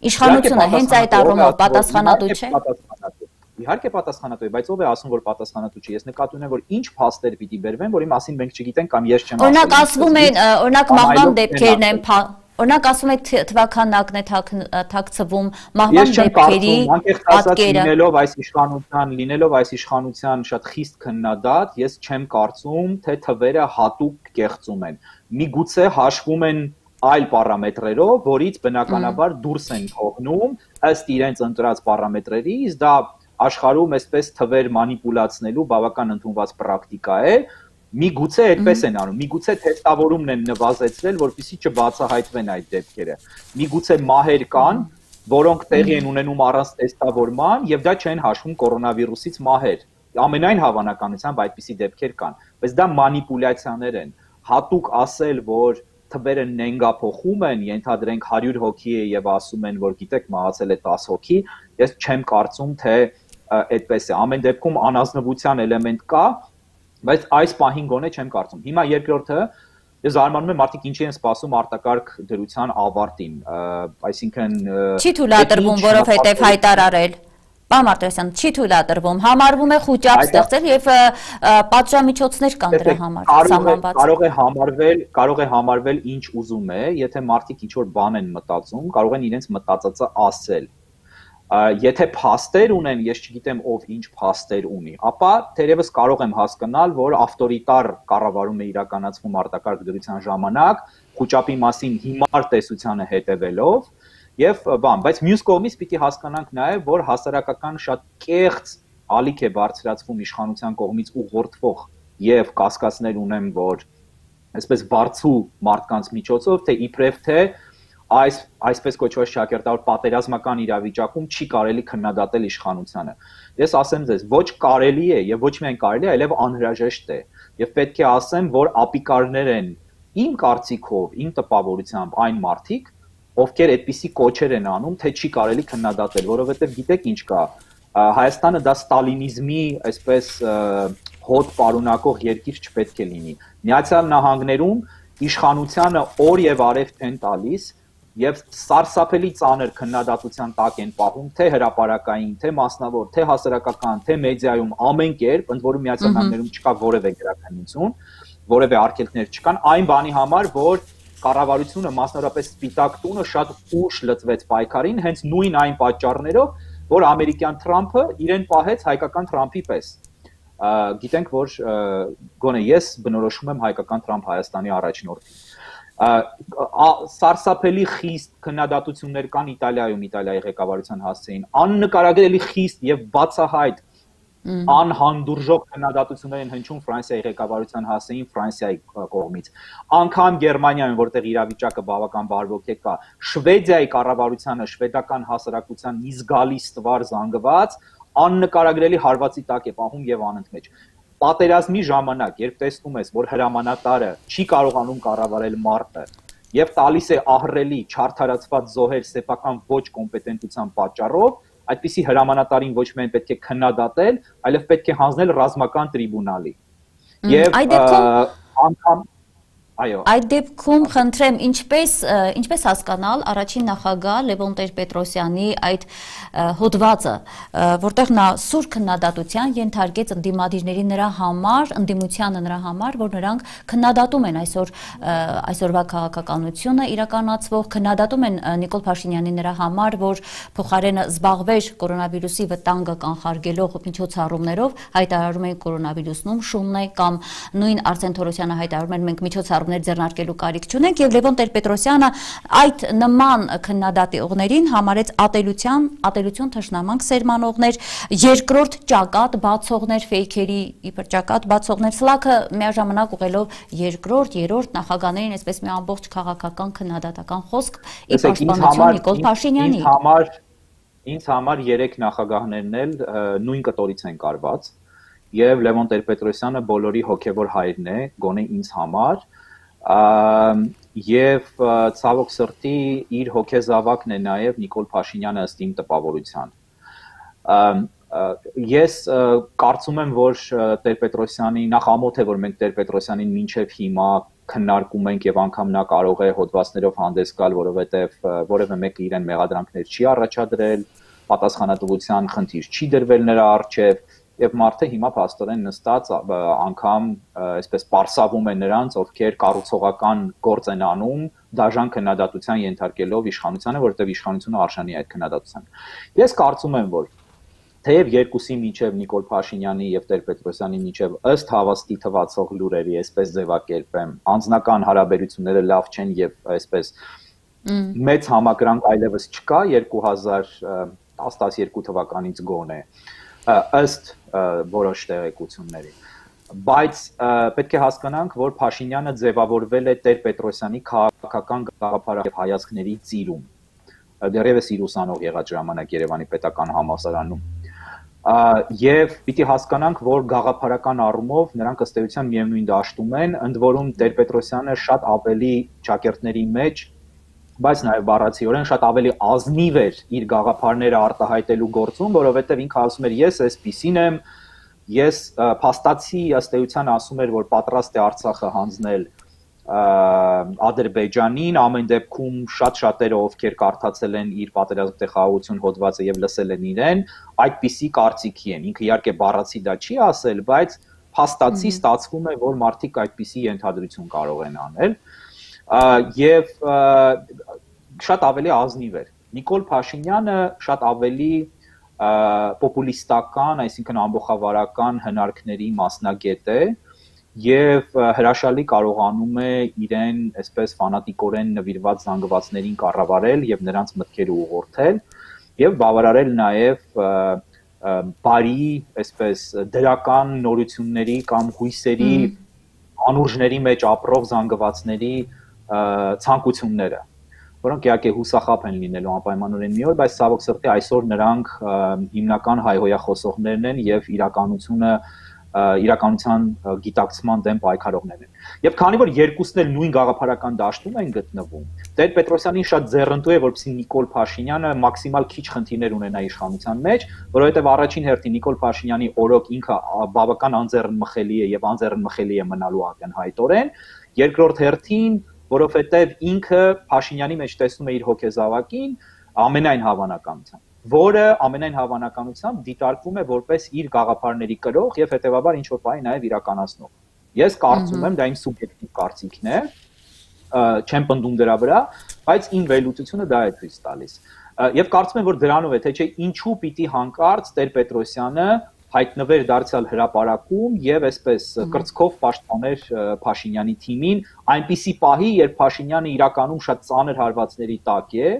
Իշխանությունը հենց այդ առումով պատասխանատու չէ։ Իհարկե պատասխանատու է, բայց ով է ասում, որ պատասխանատու չի։ Ես նկատի ունեմ, որ ինչ փաստեր պիտի բերվեն, որի մասին մենք չգիտենք կամ ես չեմ ասում։ Օրինակ ասվում են, օրինակ մահվան դեպքերն են, օրինակ ասում են թվականակն է թաքցվում, մահվան դեպքերի պատկերը։ Լինելով այս իշխանության, լինելով այս իշխանության շատ խիստ քննադատ, ես չեմ կարծում, թե թվերը հատուկ կեղծում են։ Միգուցե հաշվում են այլ պարամետրերով, որից բնականաբար դուրս են թողնում ըստ իրենց ընտրած պարամետրերի, իսկ դա աշխարհում այսպես թվեր մանիպուլացնելու բավական ընդունված պրակտիկա է, միգուցե այդպես են անում, միգուցե թեստավորումն են նվազեցրել, որպեսզի չբացահայտվեն այդ դեպքերը, միգուցե մահեր կան, որոնք տեղի են ունենում առանց թեստավորման եւ դա չեն հաշվում կորոնավիրուսից մահեր, ամենայն հավանականությամբ այդպիսի դեպքեր կան, բայց դա մանիպուլյացիաներ են, հատուկ ասել, որ թվերը նենգափոխում են, ենթադրենք հարյուր հոգի է եւ ասում են, որ գիտեք մահացել է տասը հոգի, ես չեմ կարծում, թե այդպես է, ամեն դեպքում անազնվության էլեմենտ կա, բայց այս պահին գոնե չեմ կարծում։ Հիմա երկրորդը, ես զարմանում եմ մարդիկ ինչի են սպասում արտակարգ դրության ավարտին, այսինքն չի թույլատրվում, որովհետև հայտարարել, պարոն Մարտիրոսյան, չի թույլատրվում, համարվում է խոճապ ստեղծել եւ պատժամիջոցներ կան դրա համար սահմանված։ Կարող է համարվել, կարող է համարվել ինչ ուզում է, եթե մարդիկ ինչ որ բան են մտածում, կարող են իրենց մտածածը ասել։ Եթե փաստեր ունեն, ես չգիտեմ ով ինչ փաստեր ունի, ապա թերևս կարող եմ հասկանալ, որ ավտորիտար կառավարում է իրականացվում արտակարգ դրության ժամանակ, խոճապի մասին հիմար տեսությանը հետևելով եւ բան, բայց մյուս կողմից պիտի հասկանանք նաեւ, որ հասարակական շատ կեղծ ալիք է բարձրացվում իշխանության կողմից ուղղորդվող եւ կասկածներ ունեմ, որ այսպես բարձու մարդկանց միջոցով, թե իբրև թե այս այսպես կոչված շակերտավոր պատերազմական իրավիճակում չի կարելի քննադատել իշխանությանը։ Ես ասեմ ձեզ, ոչ կարելի է եւ ոչ միայն կարելի է, այլև անհրաժեշտ է։ Եվ պետք է ասեմ, որ ապիկարներ են իմ կարծիքով, իմ տպավորությամբ այն մարդիկ, ովքեր այդպիսի կոչեր են անում, թե չի կարելի քննադատել, որովհետեւ գիտեք ինչ կա, Հայաստանը դա ստալինիզմի այսպես հոտ պարունակող երկիր չպետք է լինի։ Միացյալ Նահանգներում իշխանությանը օր եւ արև չեն տալիս եւ սարսափելի ծանր քննադատության տակ են պահում թե հրապարակային, թե մասնավոր, թե հասարակական, թե մեդիայում ամեն կերպ, ընդ որում Միացյալ Նահանգներում չկա որևէ գրաքննություն, որևէ արգելքներ չկան, այն բանի համար, որ կառավարությունը մասնավորապես Սպիտակ տունը շատ ուշ լծվեց պայքարին, հենց նույն այն պատճառներով, որ ամերիկյան Թրամփը իրեն պահեց հայկական Թրամփի պես։ Գիտենք, որ գոնե ես բնորոշում եմ հայկական Թրամփ Հայաստանի առաջնորդին։ Սարսափելի խիստ քննադատություններ կան Իտալիայում, Իտալիայի ղեկավարության հասցեին, աննկարագրելի խիստ եւ բացահայտ անհանդուրժող քննադատություններ են հնչում Ֆրանսիայի ղեկավարության հասցեին Ֆրանսիայի կողմից։ Անկամ Գերմանիայում, որտեղ իրավիճակը բավական բարվոք է կա, Շվեդիայի կառավարությանը, շվեդական հասարակության մի զգալի ստվար զանգված, աննկարագրելի հարվածի տակ է պահում եւ անընդմեջ։ Պատերազմի ժամանակ, երբ տեսնում ես, որ հրամանատարը չի կարողանում կառավարել մարտը եւ տալիս է ահռելի, չարդարացված զոհեր սեփական ոչ կոմպետենտության պատճառով, այդպիսի հրամանատարին ոչ միայն պետք է քննադատել, այլև պետք է հանձնել ռազմական տրիբունալի։ Եվ անգամ այո, այդ դեպքում խնդրեմ, ինչպես ինչպես հասկանալ առաջին նախագահ Լևոն Տեր-Պետրոսյանի այդ հոդվածը, որտեղ նա սուր քննադատության ենթարկեց ընդդիմադիրների նրա համար, ընդդիմությանը նրա համար, որ նրանք քննադատում են այսօր այսօրվա քաղաքականությունը իրականացվող, քննադատում են Նիկոլ Փաշինյանի նրա համար, որ փոխարենը զբաղվեր կորոնավիրուսի վտանգը կանխարգելող միջոցառումներով, հայտարարում են կորոնավիրուսնում շունն է, կամ նույն Արսեն Թորոսյանը հայտարարում են մենք միջոցառում ծրագրեր ձեռնարկելու կարիք չունենք եւ Լևոն Տեր-Պետրոսյանը այդ նման քննադատողներին համարեց ատելության, ատելություն թշնամանք սերմանողներ, երկրորդ ճակատ բացողներ, ֆեյքերի իբր ճակատ բացողներ, սլաքը միաժամանակ ուղղելով երկրորդ, երրորդ նախագահներին, այսպես մի ամբողջ քաղաքական քննադատական խոսք ի պաշտպանություն Նիկոլ Փաշինյանի։ Ինձ համար Ինձ համար երեք նախագահներն էլ նույն կտորից են կարված եւ Լևոն Տեր-Պետրոսյանը բոլորի հոգեվոր հայրն է, գոնե ինձ համար, եւ ցավոք սրտի իր հոգեզավակն է նաեւ Նիկոլ Փաշինյանը ըստ իմ տպավորության։ Ես կարծում եմ, որ Տեր-Պետրոսյանի նախ ամոթ է, որ մենք Տեր-Պետրոսյանին մինչեւ հիմա քննարկում ենք եւ անգամ նա կարող է հոդվածներով հանդես գալ, որովհետեւ որևէ մեկը իրեն մեղադրանքներ չի առաջադրել, պատասխանատվության խնդիր չի դրվել նրա առջև եւ մարդը հիմա փաստորեն նստած անգամ այսպես պարսավում է նրանց, ովքեր կառուցողական գործ են անում, դաժան քննադատության ենթարկելով իշխանությանը, որովհետեւ իշխանությունը արժանի է այդ քննադատության։ Ես կարծում եմ, որ թեև երկուսի միջև Նիկոլ Փաշինյանի եւ Տեր-Պետրոսյանի միջև ըստ հավաստի թվացող լուրերի, այսպես ձևակերպեմ, անձնական հարաբերությունները լավ չեն եւ այսպես մեծ համակրանք այլևս չկա երկու հազար տասնյոթ թվականից գոնե ըստ որոշ տեղեկությունների, բայց պետք է հասկանանք, որ Փաշինյանը ձևավորվել է Տեր-Պետրոսյանի քաղաքական գաղափարի եւ հայացքների ծիրում, դեռևս իր ուսանող եղած ժամանակ Երևանի պետական համալսարանում։ Եվ պիտի հասկանանք, որ գաղափարական առումով նրանք ըստ էության միևնույն դաշտում են, ընդ որում Տեր-Պետրոսյանը շատ ավելի ճակերտների մեջ, բայց նաև բառացիորեն շատ ավելի ազնիվ էր իր գաղափարները արտահայտելու գործում, որովհետև ինքը ասում էր ես այսպիսին եմ, ես փաստացի ըստ էության ասում էր, որ պատրաստ է Արցախը հանձնել Ադրբեջանին, ամեն դեպքում շատ շատերը ովքեր կարդացել են իր պատերազմի խաղաղություն հոդվածը եւ լսել են իրեն, այդպիսի կարծիքի են։ Ինքը իհարկե բառացի դա չի ասել, բայց փաստացի ստացվում է, որ մարդիկ այդպիսի ենթադրություն կարող են անել եւ շատ ավելի ազնիվ էր։ Նիկոլ Փաշինյանը շատ ավելի պոպուլիստական, այսինքն ամբողջավարական հնարքների մասնագետ է եւ հրաշալի կարողանում է իրեն այսպես ֆանատիկորեն նվիրված զանգվածներին կառավարել եւ նրանց մտքերը ուղղորդել եւ բավարարել նաեւ բարի, այսպես դրական նորությունների կամ հույսերի անուրջների մեջ ապրող զանգվածների ցանկությունները, որոնք իհարկե հուսախաբ են լինելու անպայմանորեն մի օր, բայց ցավոք սրտի այսօր նրանք հիմնական հայհոյախոսողներն են եւ իրականությունը իրականության գիտակցման դեմ պայքարողներն են։ Եվ քանի որ երկուսն էլ նույն գաղափարական դաշտում են գտնվում, Տեր-Պետրոսյանին շատ ձեռնտու է, որպեսզի Նիկոլ Փաշինյանը մաքսիմալ քիչ խնդիրներ ունենա իշխանության մեջ, որովհետև առաջին հերթին Նիկոլ Փաշինյանի օրոք ինքը բավական անձեռնմխելի է եւ անձեռնմխելի է մնալու ակնհայտորեն, երկրորդ հերթին, որովհետև ինքը Փաշինյանի մեջ տեսնում է իր հոգեզավակին ամենայն հավանականությամբ, որը ամենայն հավանականությամբ դիտարկվում է որպես իր գաղափարների կրող եւ հետեւաբար ինչ որ բանի նաեւ իրականացնող։ Ես կարծում եմ, դա իմ սուբյեկտիվ կարծիքն է, չեմ պնդում դրա վրա, բայց իմ վերլուծությունը դա է ցույց տալիս։ Եվ կարծում եմ, որ դրանով է, թե չէ ինչու պիտի հանկարծ Տեր-Պետրոսյանը հայտնվեր դարձյալ հրապարակում եւ այսպես կրծքով պաշտպաներ Փաշինյանի թիմին այնպիսի պահի, երբ Փաշինյանը իրականում շատ ծանր հարվածների տակ է,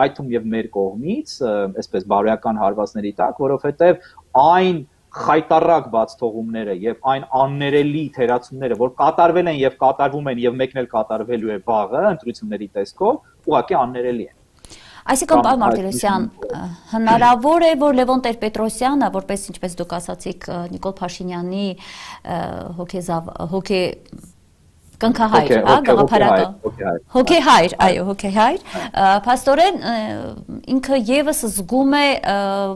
այդ թվում եւ մեր կողմից, այսպես բարոյական հարվածների տակ, որովհետեւ այն խայտարակ բացթողումները եւ այն աններելի թերացումները, որ կատարվել են եւ կատարվում են եւ մեկն էլ կատարվելու է վաղը ընտրությունների տեսքով, ուղղակի աններելի են։ Այսինքն, պարոն Մարտիրոսյան, հնարավոր է, որ Լևոն Տեր-Պետրոսյանը, որպես ինչպես դուք ասացիք, Նիկոլ Փաշինյանի հոգե կնքահայր, հա, գաղափարական հոգեհայր, այո, հոգեհայր, փաստորեն ինքը եւս զգում է,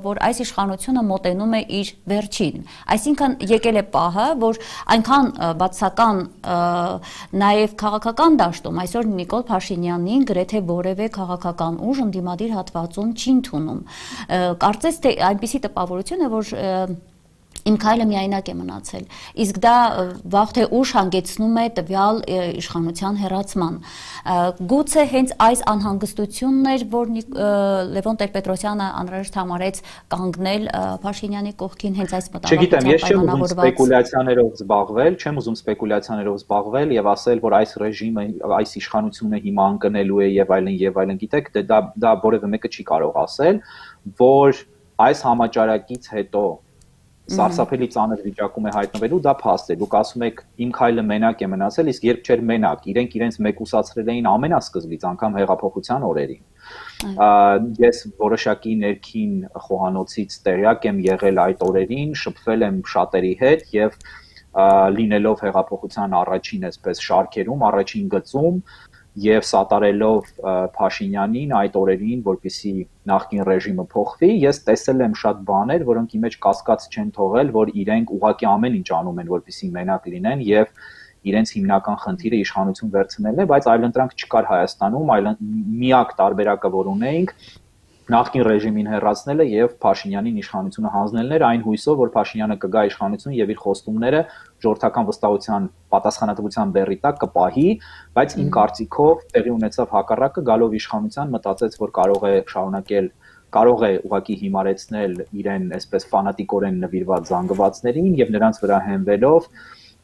որ այս իշխանությունը մոտենում է իր վերջին, այսինքն եկել է պահը, որ այնքան բացական նաեւ քաղաքական դաշտում այսօր Նիկոլ Փաշինյանին գրեթե որևէ քաղաքական ուժ ընդդիմադիր հատվածում չի ընդունում, կարծես թե այնպիսի տպավորություն է, որ Իմ քայլը միայնակ է մնացել։ Իսկ դա վաղ թե ուշ հանգեցնում է տվյալ իշխանության հեռացման։ Գուցե հենց այս անհանգստությունն էր, որ Լևոն Տեր-Պետրոսյանը անհրաժեշտ համարեց կանգնել Փաշինյանի կողքին հենց այս մտահոգությամբ պայմանավորված։ Չգիտեմ, ես չեմ ուզում սպեկուլյացիաներով զբաղվել, չեմ ուզում սպեկուլյացիաներով զբաղվել եւ ասել, որ այս ռեժիմը, այս իշխանությունը հիմա ընկնելու է եւ այլն եւ այլն, գիտեք, դա դա որևէ մեկը չի կարող ասել, որ այս համաճարակից հետո սարսափելի ծանր վիճակում է հայտնվելու, դա փաստ է։ Դուք ասում եք իմ քայլը մենակ է մնացել, իսկ երբ չէր մենակ, իրենք իրենց մեկուսացրել էին ամենասկզբից, անգամ հեղափոխության օրերին։ Ես որոշակի ներքին խոհանոցից տեղյակ եմ եղել այդ օրերին, շփվել եմ շատերի հետ եւ լինելով հեղափոխության առաջին այսպես շարքերում, առաջին գծում եւ սատարելով Փաշինյանին այդ օրերին, որպեսզի նախկին ռեժիմը փոխվի, ես տեսել եմ շատ բաներ, որոնք ի մեջ կասկած չեն թողել, որ իրենք ուղղակի ամեն ինչ անում են, որպեսզի մենակ լինեն եւ իրենց հիմնական խնդիրը իշխանություն վերցնելն է, բայց այլընտրանք չկար Հայաստանում, այլ միակ տարբերակը, որ ունեինք, նախկին ռեժիմին հեռացնելը եւ Փաշինյանին իշխանությունը հանձնելն էր, այն հույսով, որ Փաշինյանը կգա իշխանություն եւ իր խոստումները ժողովրդական վստահության պատասխանատվության բեռի տակ կպահի, բայց իմ կարծիքով տեղի ունեցավ հակառակը, գալով իշխանության մտածեց, որ կարող է շարունակել, կարող է ուղղակի հիմարեցնել իրեն այսպես ֆանատիկորեն նվիրված զանգվածներին եւ նրանց վրա հենվելով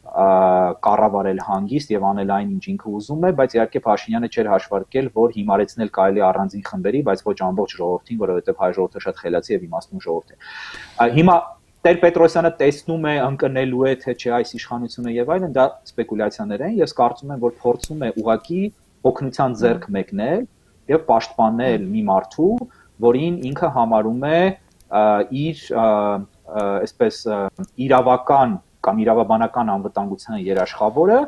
կառավարել հանգիստ եւ անել այն, ինչ ինքը ուզում է, բայց իհարկե Փաշինյանը չէր հաշվարկել, որ հիմարեցնել կարելի առանձին խմբերի, բայց ոչ ամբողջ ժողովրդին, որովհետեւ հայ ժողովուրդը շատ խելացի եւ իմաստուն ժողովուրդ է։ Հիմա Տեր-Պետրոսյանը տեսնում է ընկնելու է թե չէ այս իշխանությունը եւ այլն, դա սպեկուլյացիաներ են, ես կարծում եմ, որ փորձում է ուղղակի օգնության ձեռք մեկնել եւ պաշտպանել մի մարդու, որին ինքը համարում է իր այսպես իրավական կամ իրավաբանական անվտանգության երաշխավորը,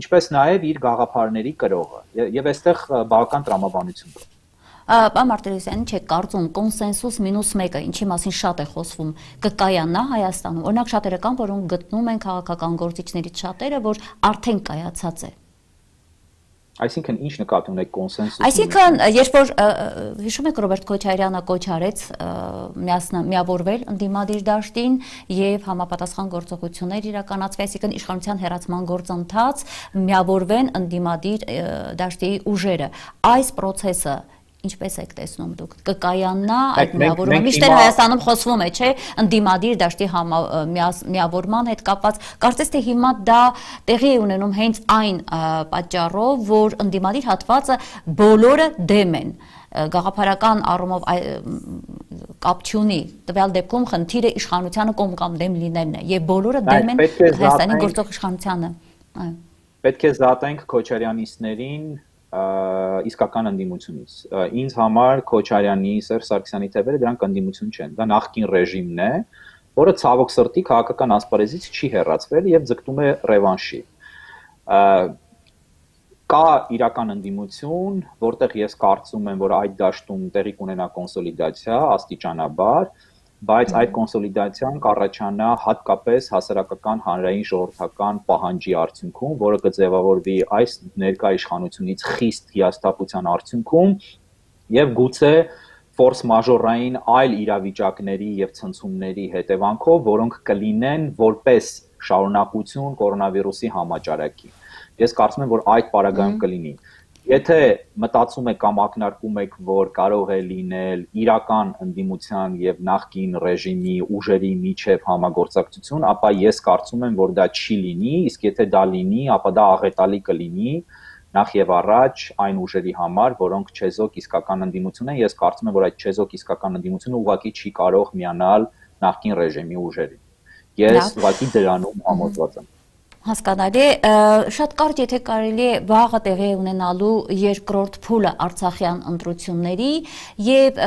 ինչպես նաև իր գաղափարների կրողը։ Եվ այստեղ բավական տրամաբանություն կա։ Պարոն Մարտիրոսյան, չէ, կարծում կոնսենսուս մինուս մեկը, ինչի մասին շատ է խոսվում, կկայանա Հայաստանում։ Օրինակ շատերը կան, որոնք գտնում են քաղաքական գործիչներից շատերը, որ արդեն կայացած է։ Այսինքն ինչ նկատի ունեք կոնսենսուս։ Այսինքն, երբ որ հիշում եք Ռոբերտ Քոչարյանը կոչ արեց միավորվել ընդդիմադիր դաշտին եւ համապատասխան գործողություններ իրականացվի, այսինքն իշխանության հեռացման գործընթաց միավորվեն ընդդիմադիր դաշտի ուժերը։ Այս process-ը ինչպես եք տեսնում դուք, կկայանա այդ միավորումը, միշտ Հայաստանում խոսվում է, չէ, ընդդիմադիր դաշտի միավորման հետ կապված, կարծես թե հիմա դա տեղի է ունենում հենց այն պատճառով, որ ընդդիմադիր հատվածը բոլորը դեմ են, գաղափարական առումով կապ չունի, տվյալ դեպքում խնդիրը իշխանությանը կողմ կամ դեմ լինելն է, եւ բոլորը դեմ են Հայաստանի գործող իշխանությանը։ Պետք է զատենք քոչարյանիստներին իսկական ընդդիմությունից։ Ինձ համար Քոչարյանի, Սերժ Սարգսյանի թևերը դրանք ընդդիմություն չեն։ Դա նախկին ռեժիմն է, որը ցավոք սրտի քաղաքական ասպարեզից չի հեռացվել եւ ձգտում է ռևանշի։ Կա իրական ընդդիմություն, որտեղ ես կարծում եմ, որ այդ դաշտում տեղի կունենա կոնսոլիդացիա աստիճանաբար, բայց այդ կոնսոլիդացիան կառաջանա հատկապես հասարակական հանրային ժողովրդական պահանջի արդյունքում, որը կձևավորվի այս ներկա իշխանությունից խիստ հիասթափության արդյունքում եւ գուցե ֆորս մաժորային այլ իրավիճակների եւ ցնցումների հետևանքով, որոնք կլինեն որպես շարունակություն կորոնավիրուսի համաճարակի։ Ես կարծում եմ, որ այդ պարագայում կլինի։ Եթե մտածում եք կամ ակնարկում եք, որ կարող է լինել իրական ընդդիմության եւ նախկին ռեժիմի ուժերի միջև համագործակցություն, ապա ես կարծում եմ, որ դա չի լինի, իսկ եթե դա լինի, ապա դա աղետալի կլինի նախ եւ առաջ այն ուժերի համար, որոնք չեզոք իսկական ընդդիմություն են, ես կարծում եմ, որ այդ չեզոք իսկական ընդդիմությունը ուղղակի չի կարող միանալ նախկին ռեժիմի ուժերին։ Ես ուղղակի դրանում համոզված եմ։ Հասկանալի, շատ կարճ եթե կարելի է վաղը տեղի ունենալու երկրորդ փուլը Արցախյան ընտրությունների եւ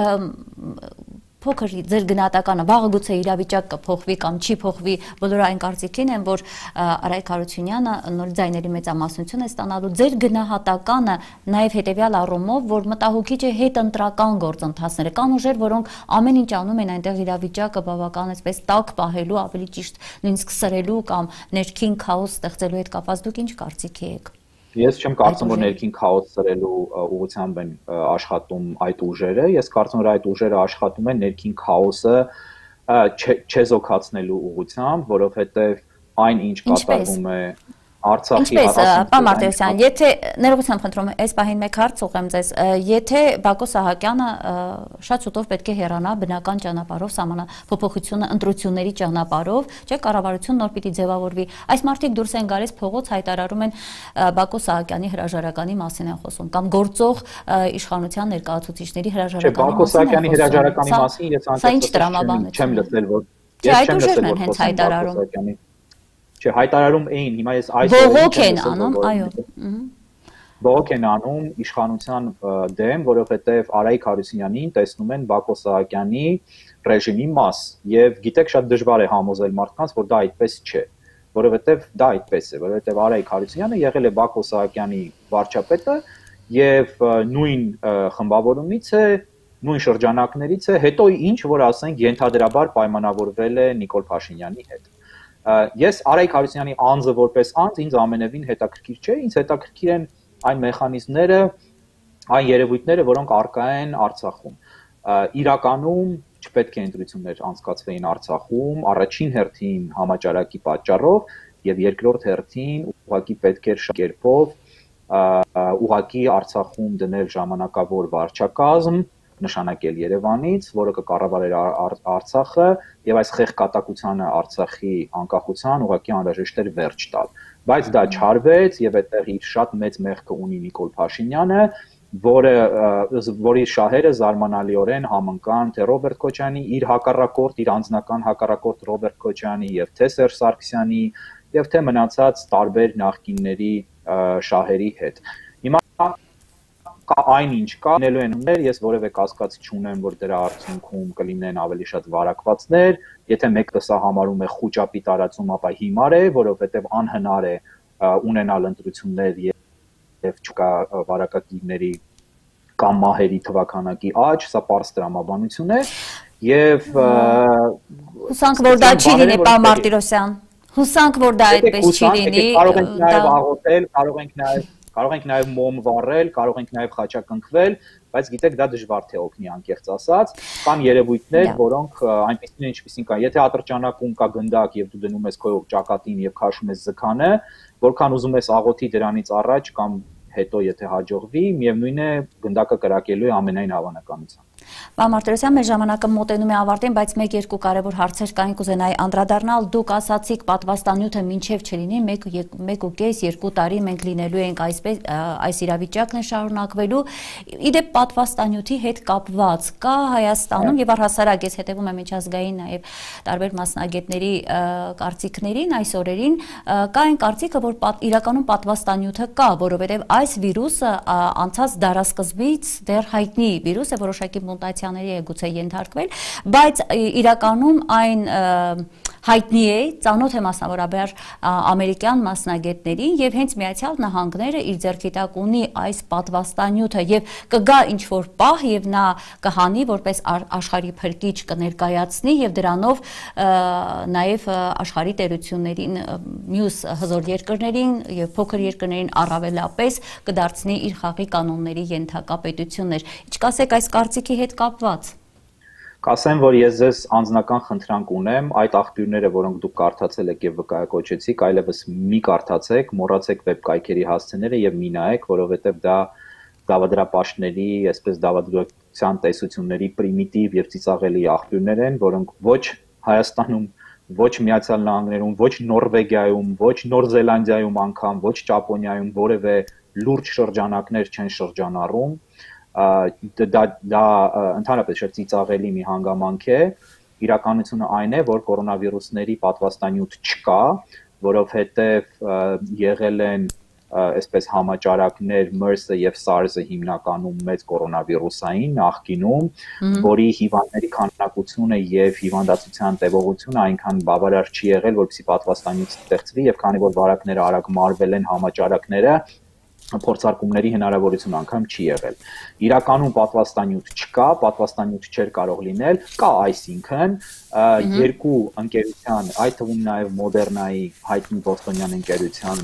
փոքր ձեր գնահատականը վաղը գուցե իրավիճակ կփոխվի կամ չի փոխվի, բոլորը այն կարծիքին են, որ Արայք Հարությունյանը նոր ձայների մեծամասնություն է ստանալու, ձեր գնահատականը նաեւ հետեւյալ առումով, որ մտահոգիչ է հետընտրական գործընթացները, կան ուժեր, որոնք ամեն ինչ անում են այնտեղ իրավիճակը բավական այսպես տաք պահելու, ավելի ճիշտ նույնիսկ սրելու կամ ներքին քաոս ստեղծելու հետ կապված, դուք ինչ կարծիքի եք։ Ես չեմ կարծում, որ ներքին քաոս սրելու ուղղությամբ են աշխատում այդ ուժերը, ես կարծում եմ, որ այդ ուժերը աշխատում են ներքին քաոսը չեզոքացնելու ուղղությամբ, որովհետև այն ինչ կատարվում է Արցախի Ինչպես, պարոն Մարտիրոսյան, եթե ներողությամբ խնդրում եմ, այս պահին մեկ հարց ուղղեմ ձեզ, եթե Բակո Սահակյանը շատ շուտով պետք է հեռանա բնական ճանապարհով, սահմանափոփոխությունը ընտրությունների ճանապարհով, չէ՞, կառավարություն նոր պիտի ձևավորվի, այս մարդիկ դուրս են գալիս փողոց, հայտարարում են Բակո Սահակյանի հրաժարականի մասին են խոսում, կամ գործող իշխանության ներկայացուցիչների հրաժարականի մասին են խոսում։ Բակո Սահակյանի հրաժարականի մասին ես անկեղծ չեմ լսել, որ ես չեմ լսել, որ հենց հայտարարում Չէ, հայտարարում էին, հիմա ես այսօր բողոք են անում, այո։ Բողոք են անում իշխանության դեմ, որովհետև Արայիկ Հարությունյանին տեսնում են Բակո Սահակյանի ռեժիմի մաս, եւ գիտեք շատ դժվար է համոզել մարդկանց, որ դա այդպես չէ, որովհետև դա այդպես է, որովհետև Արայիկ Հարությունյանը եղել է Բակո Սահակյանի վարչապետը եւ նույն խմբավորումից է, նույն շրջանակներից է, հետո ինչ որ ասենք ենթադրաբար պայմանավորվել է Նիկոլ Փաշինյանի հետ։ Ես Արայիկ Հարությունյանի անձը որպես անձ ինձ ամենևին հետաքրքիր չէ, ինձ հետաքրքիր են այն մեխանիզմները, այն երևույթները, որոնք առկա են Արցախում։ Իրականում չպետք է ընտրություններ անցկացվեին Արցախում, առաջին հերթին համաճարակի պատճառով եւ երկրորդ հերթին ուղղակի պետք էր շքերպով ուղղակի Արցախում դնել ժամանակավոր վարչակազմ, նշանակել Երևանից, որը կկառավարեր Արցախը եւ այս խեղկատակությանը Արցախի անկախության ուղղակի անհրաժեշտ էր վերջ տալ։ Բայց դա չարվեց եւ այդտեղ իր շատ մեծ մեղքը ունի Նիկոլ Փաշինյանը, որը որի շահերը զարմանալիորեն համընկան թե Ռոբերտ Քոչյանի իր հակառակորդ, իր անձնական հակառակորդ Ռոբերտ Քոչյանի եւ թե Սերժ Սարգսյանի եւ թե մնացած տարբեր նախկինների շահերի հետ։ Հիմա կա այնինչ կա, լինելու են ուներ, ես որևէ կասկած չունեմ, որ դրա արդյունքում կլինեն ավելի շատ վարակվածներ, եթե մեկը սա համարում է խոճապի տարածում, ապա հիմար է, որովհետև անհնար է ունենալ ընտրություններ եւ չկա վարակագիրների կամ մահերի թվականակի աճ, սա պարզ տրամաբանություն է եւ հուսանք, որ դա չի լինի, պարոն Մարտիրոսյան, հուսանք, որ դա այդպես չի լինի, կարող ենք նաեւ աղոթել, կարող ենք նաեւ Կարող ենք նաև մոմ վառել, կարող ենք նաև խաչակնքվել, բայց գիտեք դա դժվար թե օգնի անկեղծ ասած, կան երևույթներ, որոնք այնպիսին են, ինչպիսին կան։ Եթե ատրճանակում կա գնդակ եւ դու դնում ես քո ճակատին եւ քաշում ես զքանը, որքան ուզում ես աղոթի դրանից առաջ կամ հետո եթե հաջողվի, միևնույն է գնդակը կրակելու է ամենայն հավանականությամբ։ Պարոն Մարտիրոսյան, մեր ժամանակը մոտենում է ավարտին, բայց մեկ-երկու կարևոր հարցեր կային, կուզենայի անդրադառնալ։ Դուք ասացիք պատվաստանյութը մինչև չլինի, մեկ ու կես երկու տարի մենք լինելու ենք այսպես, այս իրավիճակն է շարունակվելու։ Իդեպ պատվաստանյութի հետ կապված կա Հայաստանում եւ առհասարակ ես հետեւում եմ միջազգային նաեւ տարբեր մասնագետների կարծիքներին այս օրերին, կա այն կարծիքը, որ իրականում պատվաստանյութը կա, որովհետեւ այս վիրուսը անցած դարասկզբից դեռ հայտնի վիրուս է, որոշակի մուտացիաների է գուցե ենթարկվել, բայց իրականում այն հայտնի է, ծանոթ է մասնավորաբար ամերիկյան մասնագետներին եւ հենց Միացյալ Նահանգները իր ձեռքի տակ ունի այս պատվաստանյութը եւ կգա ինչ-որ պահ եւ նա կհանի որպես աշխարհի փրկիչ կներկայացնի եւ դրանով նաեւ աշխարհի տերություններին, մյուս հզոր երկրներին եւ փոքր երկրներին առավելապես կդարձնի իր խաղի կանոնների ենթակա պետություններ։ Ինչ կասեք այս կարծիքի հետ կապված։ Կասեմ, որ ես ձեզ անձնական խնդրանք ունեմ, այդ աղբյուրները, որոնք դուք կարդացել եք եւ վկայակոչեցիք, այլևս մի կարդացեք, մոռացեք վեբկայքերի հասցեները եւ մի նայեք, որովհետեւ դա դավադրապաշտների, այսպես դավադրության տեսությունների պրիմիտիվ եւ ծիծաղելի աղբյուրներ են, որոնք ոչ Հայաստանում, ոչ Միացյալ Նահանգներում, ոչ Նորվեգիայում, ոչ Նոր Զելանդիայում անգամ, ոչ Ճապոնիայում որևէ լուրջ շրջանակներ չեն շրջանառում։ Դա դա ընդհանրապես շատ ծիծաղելի մի հանգամանք է, իրականությունը այն է, որ կորոնավիրուսների պատվաստանյութ չկա, որովհետև եղել են այսպես համաճարակներ MERS-ը եւ SARS-ը հիմնականում մեծ կորոնավիրուսային նախկինում, որի հիվանդների քանակությունը եւ հիվանդացության տևողությունը այնքան բավարար չի եղել, որպեսզի պատվաստանյութ ստեղծվի եւ քանի որ վարակները արագ մարվել են համաճարակները փորձարկումների հնարավորություն անգամ չի եղել։ Իրականում պատվաստանյութ չկա, պատվաստանյութ չէր կարող լինել, կա այսինքն երկու ընկերության, այդ թվում նաև Մոդեռնայի հայտնի բոստոնյան ընկերության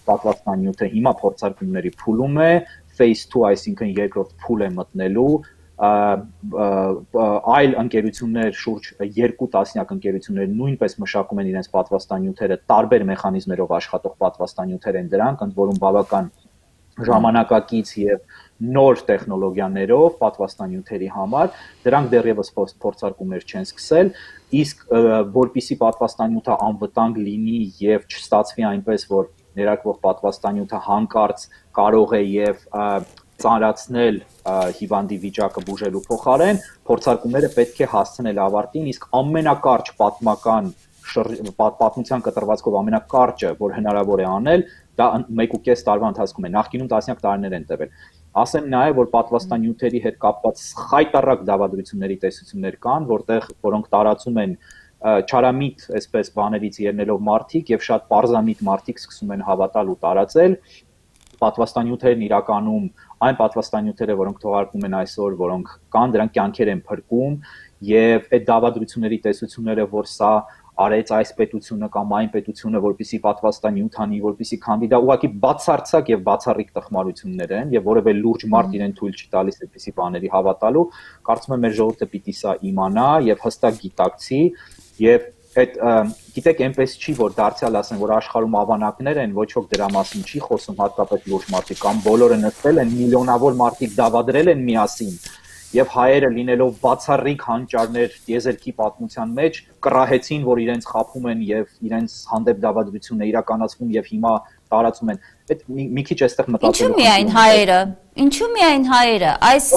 պատվաստանյութը հիմա փորձարկումների փուլում է, phase two, այսինքն երկրորդ փուլ է մտնելու, այլ ընկերություններ, շուրջ երկու տասնյակ ընկերություններ նույնպես մշակում են իրենց պատվաստանյութերը, տարբեր մեխանիզմերով աշխատող պատվաստանյութեր են դրանք, ընդ որում բավական ժամանակակից եւ նոր տեխնոլոգիաներով պատվաստանյութերի համար, դրանք դեռևս փորձարկումներ չեն սկսել, իսկ որպիսի պատվաստանյութը անվտանգ լինի եւ չստացվի այնպես, որ ներարկվող պատվաստանյութը հանկարծ կարող է եւ ծանրացնել հիվանդի վիճակը բուժելու փոխարեն, փորձարկումները պետք է հասցնել ավարտին, իսկ ամենակարճ պատմական պատմության կտրվածքով ամենակարճը, որ հնարավոր է անել, դա մեկ ու կես տարվա ընթացքում է, նախկինում տասնյակ տարիներ են տևել։ Ասեմ նաև, որ պատվաստանյութերի հետ կապված խայտառակ դավադրությունների տեսություններ կան, որտեղ որոնք տարածում են չարամիտ, այսպես բաներից ելնելով մարդիկ եւ շատ պարզամիտ մարդիկ սկսում են հավատալ ու տարածել պատվաստանյութերն իրականում այն պատվաստանյութերը, որոնք թողարկվում են այսօր, որոնք կան, դրանք կյանքեր են փրկում եւ այդ դավադրությունների տեսությունները, որ սա արեց այս պետությունը կամ այն պետությունը, որպեսի պատվաստանյութ անի, որպեսի քանդի, դա ուղղակի բացարձակ եւ բացառիկ տխմարություններ են եւ որևէ լուրջ մարդ իրեն թույլ չի տալիս այդպիսի բաների հավատալու, կարծում եմ մեր ժողովուրդը պիտի սա իմանա եւ հստակ գիտակցի եւ այդ գիտեք այնպես չի, որ դարձյալ ասեն, որ աշխարհում ավանակներ են, ոչ ոք դրա մասին չի խոսում, հատկապես լուրջ մարդիկ կամ բոլորը նստել են, միլիոնավոր մարդիկ դավադրել են միասին եւ հայերը լինելով բացառիկ հանճարներ եզերքի պատմության մեջ կռահեցին, որ իրենց խափում են եւ իրենց հանդեպ դավադրությունն է իրականացվում եւ հիմա տարածում են։ Այդ մի քիչ այստեղ մտածելու։ Ինչու միայն հայերը։ Ինչու միայն հայերը։ Այս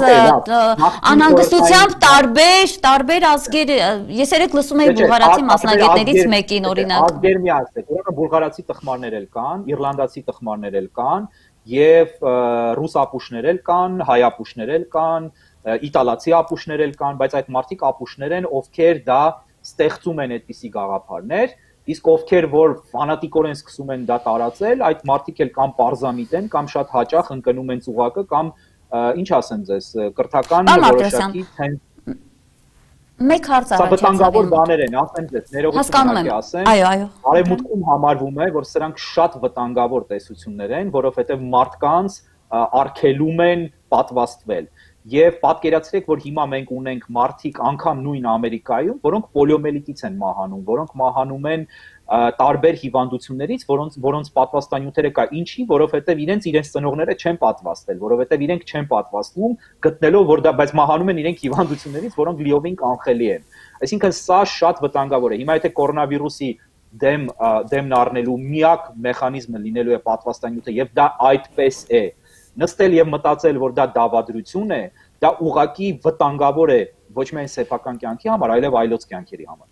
անհանգստությամբ տարբեր տարբեր ազգեր, ես երեք լսում էի բուլղարացի մասնագետներից մեկին օրինակ։ Ազգեր միացեք, ուրեմն բուլղարացի տխմարներ էլ կան, իռլանդացի տխմարներ էլ կան եւ ռուս ապուշներ էլ կան, հայ ապուշներ էլ կան, իտալացի ապուշներ էլ կան, բայց այդ մարդիկ ապուշներ են, ովքեր դա ստեղծում են այդպիսի գաղափարներ, իսկ ովքեր որ ֆանատիկորեն սկսում են դա տարածել, այդ մարդիկ էլ կամ պարզամիտ են, կամ շատ հաճախ ընկնում են ծուղակը, կամ ինչ ասեմ ձեզ, կրթական որոշակի թեն Մեկ հարց առաջացավ։ Սա վտանգավոր բաներ են, ասեմ ձեզ, ներողություն ասեմ։ Այո, այո։ Արևմուտքում համարվում է, որ սրանք շատ վտանգավոր տեսություններ են, որովհետև մարդկանց արգելում են պատվաստվել։ Եվ պատկերացրեք, որ հիմա մենք ունենք մարդիկ անգամ նույն Ամերիկայում, որոնք պոլիոմելիտից են մահանում, որոնք մահանում են տարբեր հիվանդություններից, որոնց որոնց պատվաստանյութերը կա, ինչի, որովհետև իրենց իրենց ծնողները չեն պատվաստել, որովհետև իրենք չեն պատվաստվում, գտնելով որ դա բայց մահանում են իրենք հիվանդություններից, որոնք լիովին կանխելի են։ Այսինքն սա շատ վտանգավոր է։ Հիմա եթե կորոնավիրուսի դեմ դեմն առնելու միակ մեխանիզմը լինելու է պատվաստանյութը, եւ դա այդպես է։ Նստել եւ մտածել, որ դա դավադրություն է, դա ուղղակի վտանգավոր է ոչ միայն սեփական կյանքի համար, այլև այլոց կյանքերի համար։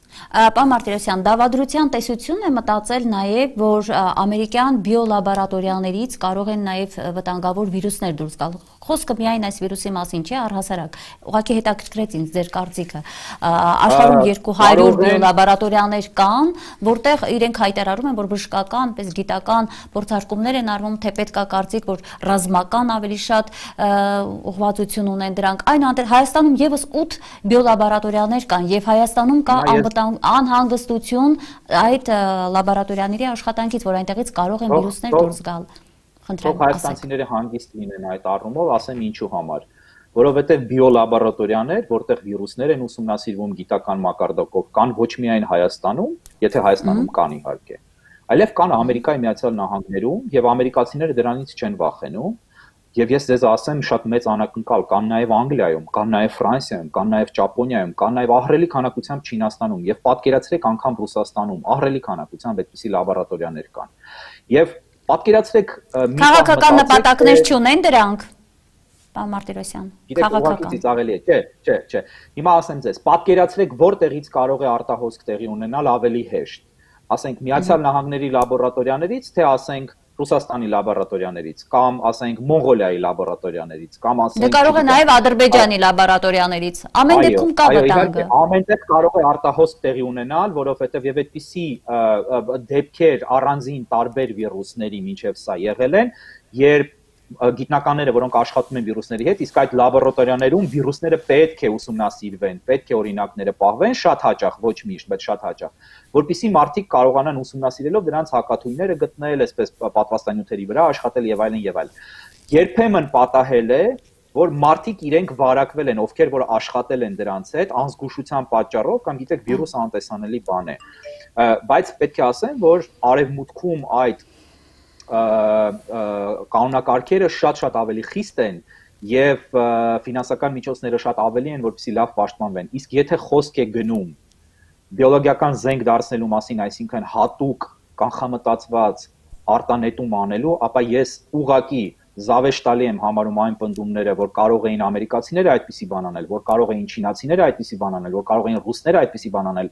Պարոն Մարտիրոսյան, դավադրության տեսությունն է մտածել նաև, որ ամերիկյան բիոլաբորատորիաներից կարող են նաև վտանգավոր վիրուսներ դուրս գալ։ Խոսքը միայն այս վիրուսի մասին չէ, առհասարակ։ Ուղղակի հետաքրքրեց ինձ ձեր կարծիքը։ Աշխարհում երկու հարյուր բիոլաբորատորիաներ կան, որտեղ իրենք հայտարարում են, որ բժշկական, պես գիտական փորձարկումներ են արվում, թե պետք է կարծիք, որ ռազմական ավելի շատ ուղղվածություն ունեն դրանք։ Այնուհանդերձ Հայաստանում եւս ութ բիոլաբորատորիաներ կան եւ Հայաստանում կա անհանգստություն այդ լաբորատորիաների աշխատանքից, որ այնտեղից կարող են վիրուսներ դուրս գալ։ Խնդրեմ, հայաստանցիները հանգիստ լինեն այդ առումով, ասեմ ինչու համար, որովհետեւ բիոլաբորատորիաներ, որտեղ վիրուսներ են ուսումնասիրվում գիտական մակարդակով, կան ոչ միայն Հայաստանում, եթե Հայաստանում կան իհարկե, այլև կան Ամերիկայի Միացյալ Նահանգներում եւ ամերիկացիները դրանից չեն վախենում։ Եվ ես ձեզ ասեմ, շատ մեծ անակնկալ կան նաև Անգլիայում, կան նաև Ֆրանսիայում, կան նաև Ճապոնիայում, կան նաև ահռելի քանակությամբ Չինաստանում եւ պատկերացրեք անգամ Ռուսաստանում ահռելի քանակությամբ այդպիսի լաբորատորիաներ կան։ Եվ պատկերացրեք քաղաքական նպատակներ չունեն դրանք։ Պարոն Մարտիրոսյան, քաղաքական ծիծաղելի է, չէ, չէ, չէ։ Հիմա ասեմ ձեզ, պատկերացրեք որտեղից կարող է արտահոսք տեղի ունենալ ավելի հեշտ։ Ասենք Միացյալ Նահանգների լաբորատորիաներից, թե ասենք Ռուսաստանի լաբորատորիաներից կամ ասենք Մոնղոլիայի լաբորատորիաներից կամ ասենք կարող է նաև Ադրբեջանի լաբորատորիաներից ամեն դեպքում կա վտանգը ամենտեղ կարող է արտահոսք տեղի ունենալ, որովհետև եւ այդպիսի դեպքեր առանձին տարբեր վիրուսների միջև սա եղել են, երբ գիտնականները, որոնք աշխատում են վիրուսների հետ, իսկ այդ լաբորատորիաներում վիրուսները պետք է ուսումնասիրվեն, պետք է օրինակները պահվեն, շատ հաճախ, ոչ միշտ, բայց շատ հաճախ, որպեսզի մարդիկ կարողանան ուսումնասիրելով դրանց հակաթույները գտնել, այսպես պատվաստանյութերի վրա աշխատել եւ այլն եւ այլն։ Երբեմն պատահել է, որ մարդիկ իրենք վարակվել են, ովքեր որ աշխատել են դրանց հետ, անզգուշության պատճառով կամ գիտեք վիրուսը անտեսանելի բան է։ Բայց պետք է ասեմ, որ արևմուտքում այդ կանոնակարգերը շատ-շատ ավելի խիստ են եւ ֆինանսական միջոցները շատ ավելի են, որպեսզի լավ պաշտպանվեն։ Իսկ եթե խոսք է գնում բիոլոգիական զենք դարձնելու մասին, այսինքն հատուկ կանխամտածված արտանետում անելու, ապա ես ուղղակի զավեշ տալի եմ համարում այն պնդումները, որ կարող էին ամերիկացիները այդպիսի բան անել, որ կարող էին չինացիները այդպիսի բան անել, որ կարող էին ռուսները այդպիսի բան անել,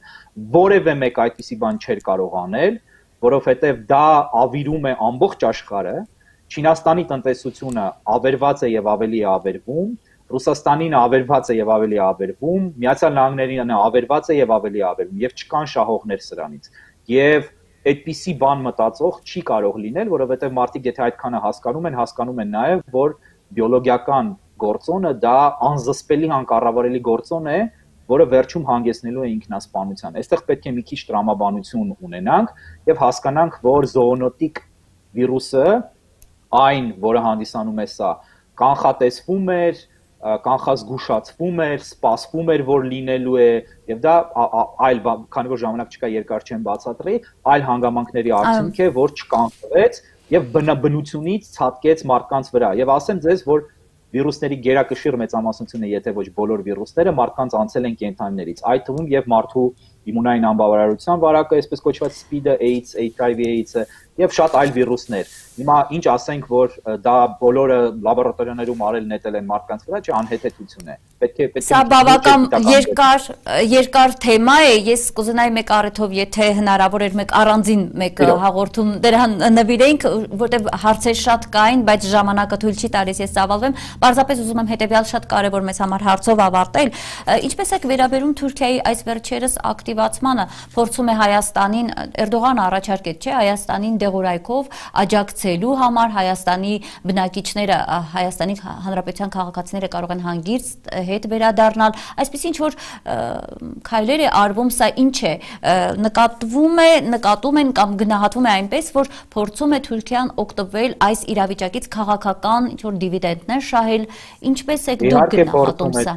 որևէ մեկ այդպիսի բան չէր կարող անել, որովհետև դա ավիրում է ամբողջ աշխարհը, Չինաստանի տնտեսությունը ավերված է եւ ավելի է ավերվում, Ռուսաստանին ավերված է եւ ավելի է ավերվում, Միացյալ Նահանգներին ավերված է եւ ավելի է ավերվում եւ չկան շահողներ սրանից։ Եվ այդպիսի բան մտածող չի կարող լինել, որովհետև մարդիկ եթե այդքանը հասկանում են, հասկանում են նաև, որ բիոլոգիական գործոնը դա անզսպելի անկառավարելի գործոն է, որը վերջում հանգեցնելու է ինքնասպանության։ Այստեղ պետք է մի քիչ տրամաբանություն ունենանք եւ հասկանանք, որ զոոնոտիկ վիրուսը, այն, որը հանդիսանում է սա, կանխատեսվում էր, կանխազգուշացվում էր, սպասվում էր, որ լինելու է, եւ դա այլ, քանի որ ժամանակ չկա, երկար չեմ բացատրի, այլ հանգամանքների արդյունք է, որ չկանխվեց եւ բնությունից ցածկեց մարդկանց վրա։ Եվ ասեմ ձեզ, որ վիրուսների գերակշիռ մեծամասնությունը, եթե ոչ բոլոր վիրուսները, մարդկանց անցել են կենդանիներից, այդ թվում եւ մարդու իմունային անբավարարության վարակը, այսպես կոչված սպիդը, AIDS, H I V AIDS-ը եւ շատ այլ վիրուսներ։ Հիմա ինչ ասենք, որ դա բոլորը լաբորատորիաներում արել նետել են մարդկանց վրա, չէ, անհեթեթություն է։ Պետք է պետք է Սա բավական երկար երկար թեմա է։ Ես կուզենայի մեկ առիթով, եթե հնարավոր էր, մեկ առանձին մեկ հաղորդում դրան նվիրենք, որտեղ հարցեր շատ կային, բայց ժամանակը թույլ չի տալիս ես ծավալվեմ։ Պարզապես ուզում եմ հետեւյալ շատ կարևոր մեծ համար հարցով ավարտել։ Ինչպես եք վերաբերում Թուրքիայի այս վերջերս ակտիվացմանը, փորձում է Հայաստանին, Էրդողանը առաջարկեց, չէ, Հայաստանին դեղորայքով աջակցելու համար, Հայաստանի բնակիչները, Հայաստանի Հանրապետության քաղաքացիները կարող են հանգիստ հետ վերադառնալ, այսպես ինչ որ քայլեր է արվում, սա ինչ է, նկատվում է, նկատում են կամ գնահատվում է այնպես, որ փորձում է Թուրքիան օգտվել այս իրավիճակից քաղաքական ինչ որ դիվիդենդներ շահել, ինչպես եք դուք գնահատում սա։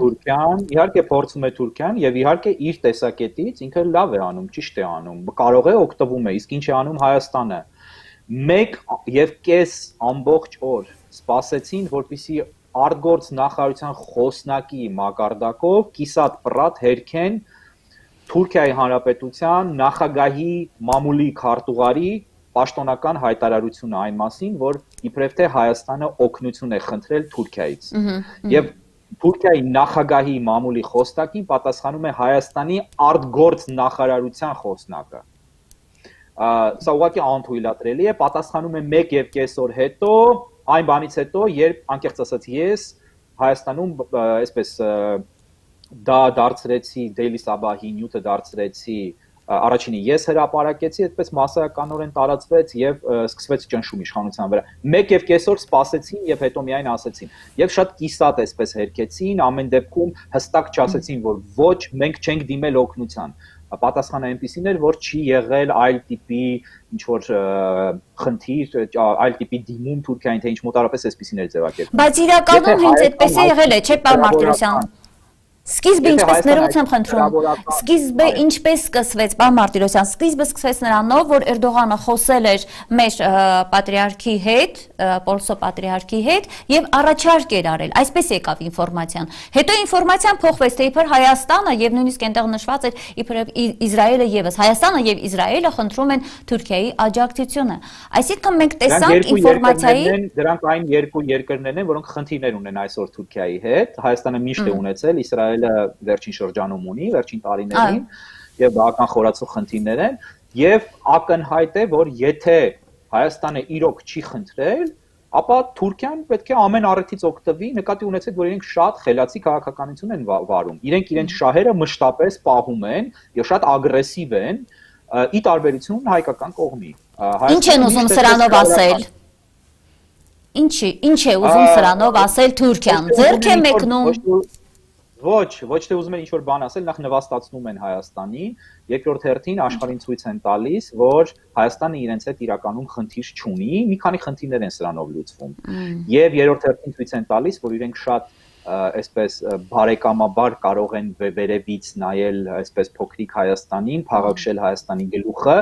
Իհարկե փորձում է Թուրքիան եւ իհարկե իր տեսակետից ինքը լավ է անում, ճիշտ է անում, կարող է օգտվում է, իսկ ինչ է անում Հայաստանը։ Մեկ եւ կես ամբողջ օր սպասեցին, որպեսզի արտգործ նախարարության խոսնակի մակարդակով կիսատ պրատ հերքեն Թուրքիայի Հանրապետության նախագահի մամուլի քարտուղարի պաշտոնական հայտարարությունը այն մասին, որ իբրև թե Հայաստանը օգնություն է խնդրել Թուրքիայից։ Եվ Թուրքիայի նախագահի մամուլի խոսնակին պատասխանում է Հայաստանի արտգործ նախարարության խոսնակը։ Սա ուղղակի անթույլատրելի է, պատասխանում է մեկ եւ կես օր հետո, այն բանից հետո, երբ անկեղծ ասած ես Հայաստանում այսպես դա դարձրեցի Daily Sabah-ի նյութը դարձրեցի, առաջինը ես հրապարակեցի, այդպես մասսայականորեն տարածվեց եւ սկսվեց ճնշում իշխանության վրա։ Մեկ եւ կես օր սպասեցին եւ հետո միայն ասեցին։ Եվ շատ կիսատ այսպես հերքեցին, ամեն դեպքում հստակ չասեցին, որ ոչ, մենք չենք դիմել օգնության։ Պատասխանը այնպեսին էր, որ չի եղել այլ տիպի ինչ որ խնդիր, այլ տիպի դիմում Թուրքիային, թե ինչ մոտարապես այսպեսին էր ձևակերպել։ Բայց իրականում հենց այդպես է եղել է, չէ՞, պարոն Մարտիրոսյան։ Սկիզբը ինչպես ներողություն եմ խնդրում, սկիզբը ինչպես սկսվեց, պարոն Մարտիրոսյան, սկիզբը սկսվեց նրանով, որ Էրդողանը խոսել էր մեր պատրիարքի հետ, Պոլսո պատրիարքի հետ եւ առաջարկ էր արել, այսպես եկավ ինֆորմացիան։ Հետո ինֆորմացիան փոխվեց, թե իբր Հայաստանը եւ նույնիսկ այնտեղ նշված էր իբրև Իսրայելը եւս, Հայաստանը եւ Իսրայելը խնդրում են Թուրքիայի աջակցությունը։ Այսինքն մենք տեսանք ինֆորմացիայի դրանք այն երկու երկրներն են, որոնք խնդիրներ ունեն այսօր Թուրքիայի հետ, Հայաստանը միշտ է ունեցել, Իսրայելը վերջին շրջանում ունի, վերջին տարիներին եւ բավական խորացող խնդիրներ են եւ ակնհայտ է, որ եթե Հայաստանը իրոք չի խնդրել, ապա Թուրքիան պետք է ամեն առիթից օգտվի, նկատի ունեցեք, որ իրենք շատ խելացի քաղաքականություն են վարում։ Իրենք իրենց շահերը մշտապես պահում են եւ շատ ագրեսիվ են, ի տարբերություն հայկական կողմի։ Ինչ են ուզում սրանով ասել։ Ինչի, ինչ է ուզում սրանով ասել Թուրքիան։ Ձեռք է մեկնում։ Ոչ, ոչ թե ուզում են ինչ-որ բան ասել, նախ նվաստացնում են Հայաստանին, երկրորդ հերթին աշխարհին ցույց են տալիս, որ Հայաստանը իրենց հետ իրականում խնդիր չունի, մի քանի խնդիրներ են սրանով լուծվում։ Եվ երրորդ հերթին ցույց են տալիս, որ իրենք շատ այսպես բարեկամաբար կարող են վերևից նայել այսպես փոքրիկ Հայաստանին, փաղաքշել Հայաստանի գլուխը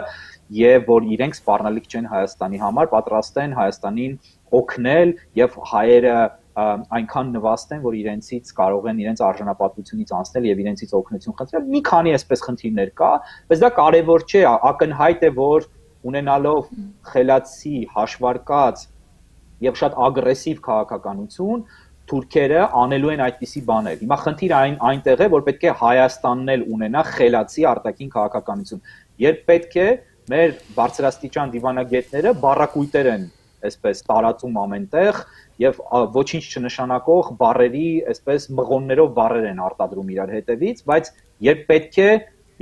եւ որ իրենք սպառնալիք չեն Հայաստանի համար, պատրաստ են Հայաստանին օգնել եւ հայերը այնքան նվաստեն, որ իրենցից կարող են իրենց արժանապատվությունից անցնել եւ իրենցից օգնություն խնդրել։ Մի քանի այսպես խնդիրներ կա, բայց դա կարեւոր չէ, ակնհայտ է, որ ունենալով խելացի, հաշվարկած եւ շատ ագրեսիվ քաղաքականություն թուրքերը անելու են այդպիսի բաներ։ Հիմա խնդիրը այն այնտեղ է, որ պետք է Հայաստանն էլ ունենա խելացի արտաքին քաղաքականություն։ Երբ պետք է մեր բարձրաստիճան դիվանագետները բառակույտեր են այսպես տարածում ամենտեղ եւ ոչինչ չնշանակող բառերի այսպես մղոններով բառեր են արտադրում իրար հետևից, բայց երբ պետք է,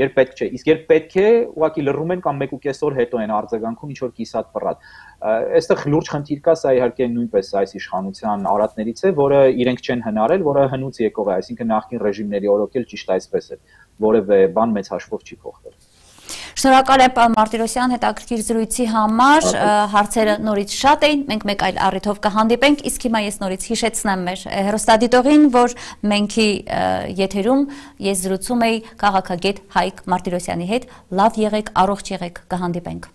երբ պետք չէ, իսկ երբ պետք է, ուղղակի լռում են կամ մեկ ու կես օր հետո են արձագանքում ինչ որ կիսատ պռատ։ Այստեղ լուրջ խնդիր կա, սա իհարկե նույնպես այս իշխանության արատներից է, որը իրենք չեն հնարել, որը հնուց եկող է, այսինքն նախկին ռեժիմների օրոքել ճիշտ այսպես է, որևէ բան մեծ հաշվով չի փոխվել։ Շնորհակալ եմ պարոն Մարտիրոսյան հետաքրքիր զրույցի համար, հարցերը նորից շատ էին, մենք մեկ այլ առիթով կհանդիպենք, իսկ հիմա ես նորից հիշեցնեմ մեր հեռուստադիտողին, որ մենքի եթերում ես զրուցում էի քաղաքագետ Հայկ Մարտիրոսյանի հետ, լավ եղեք, առողջ եղեք, կհանդիպենք։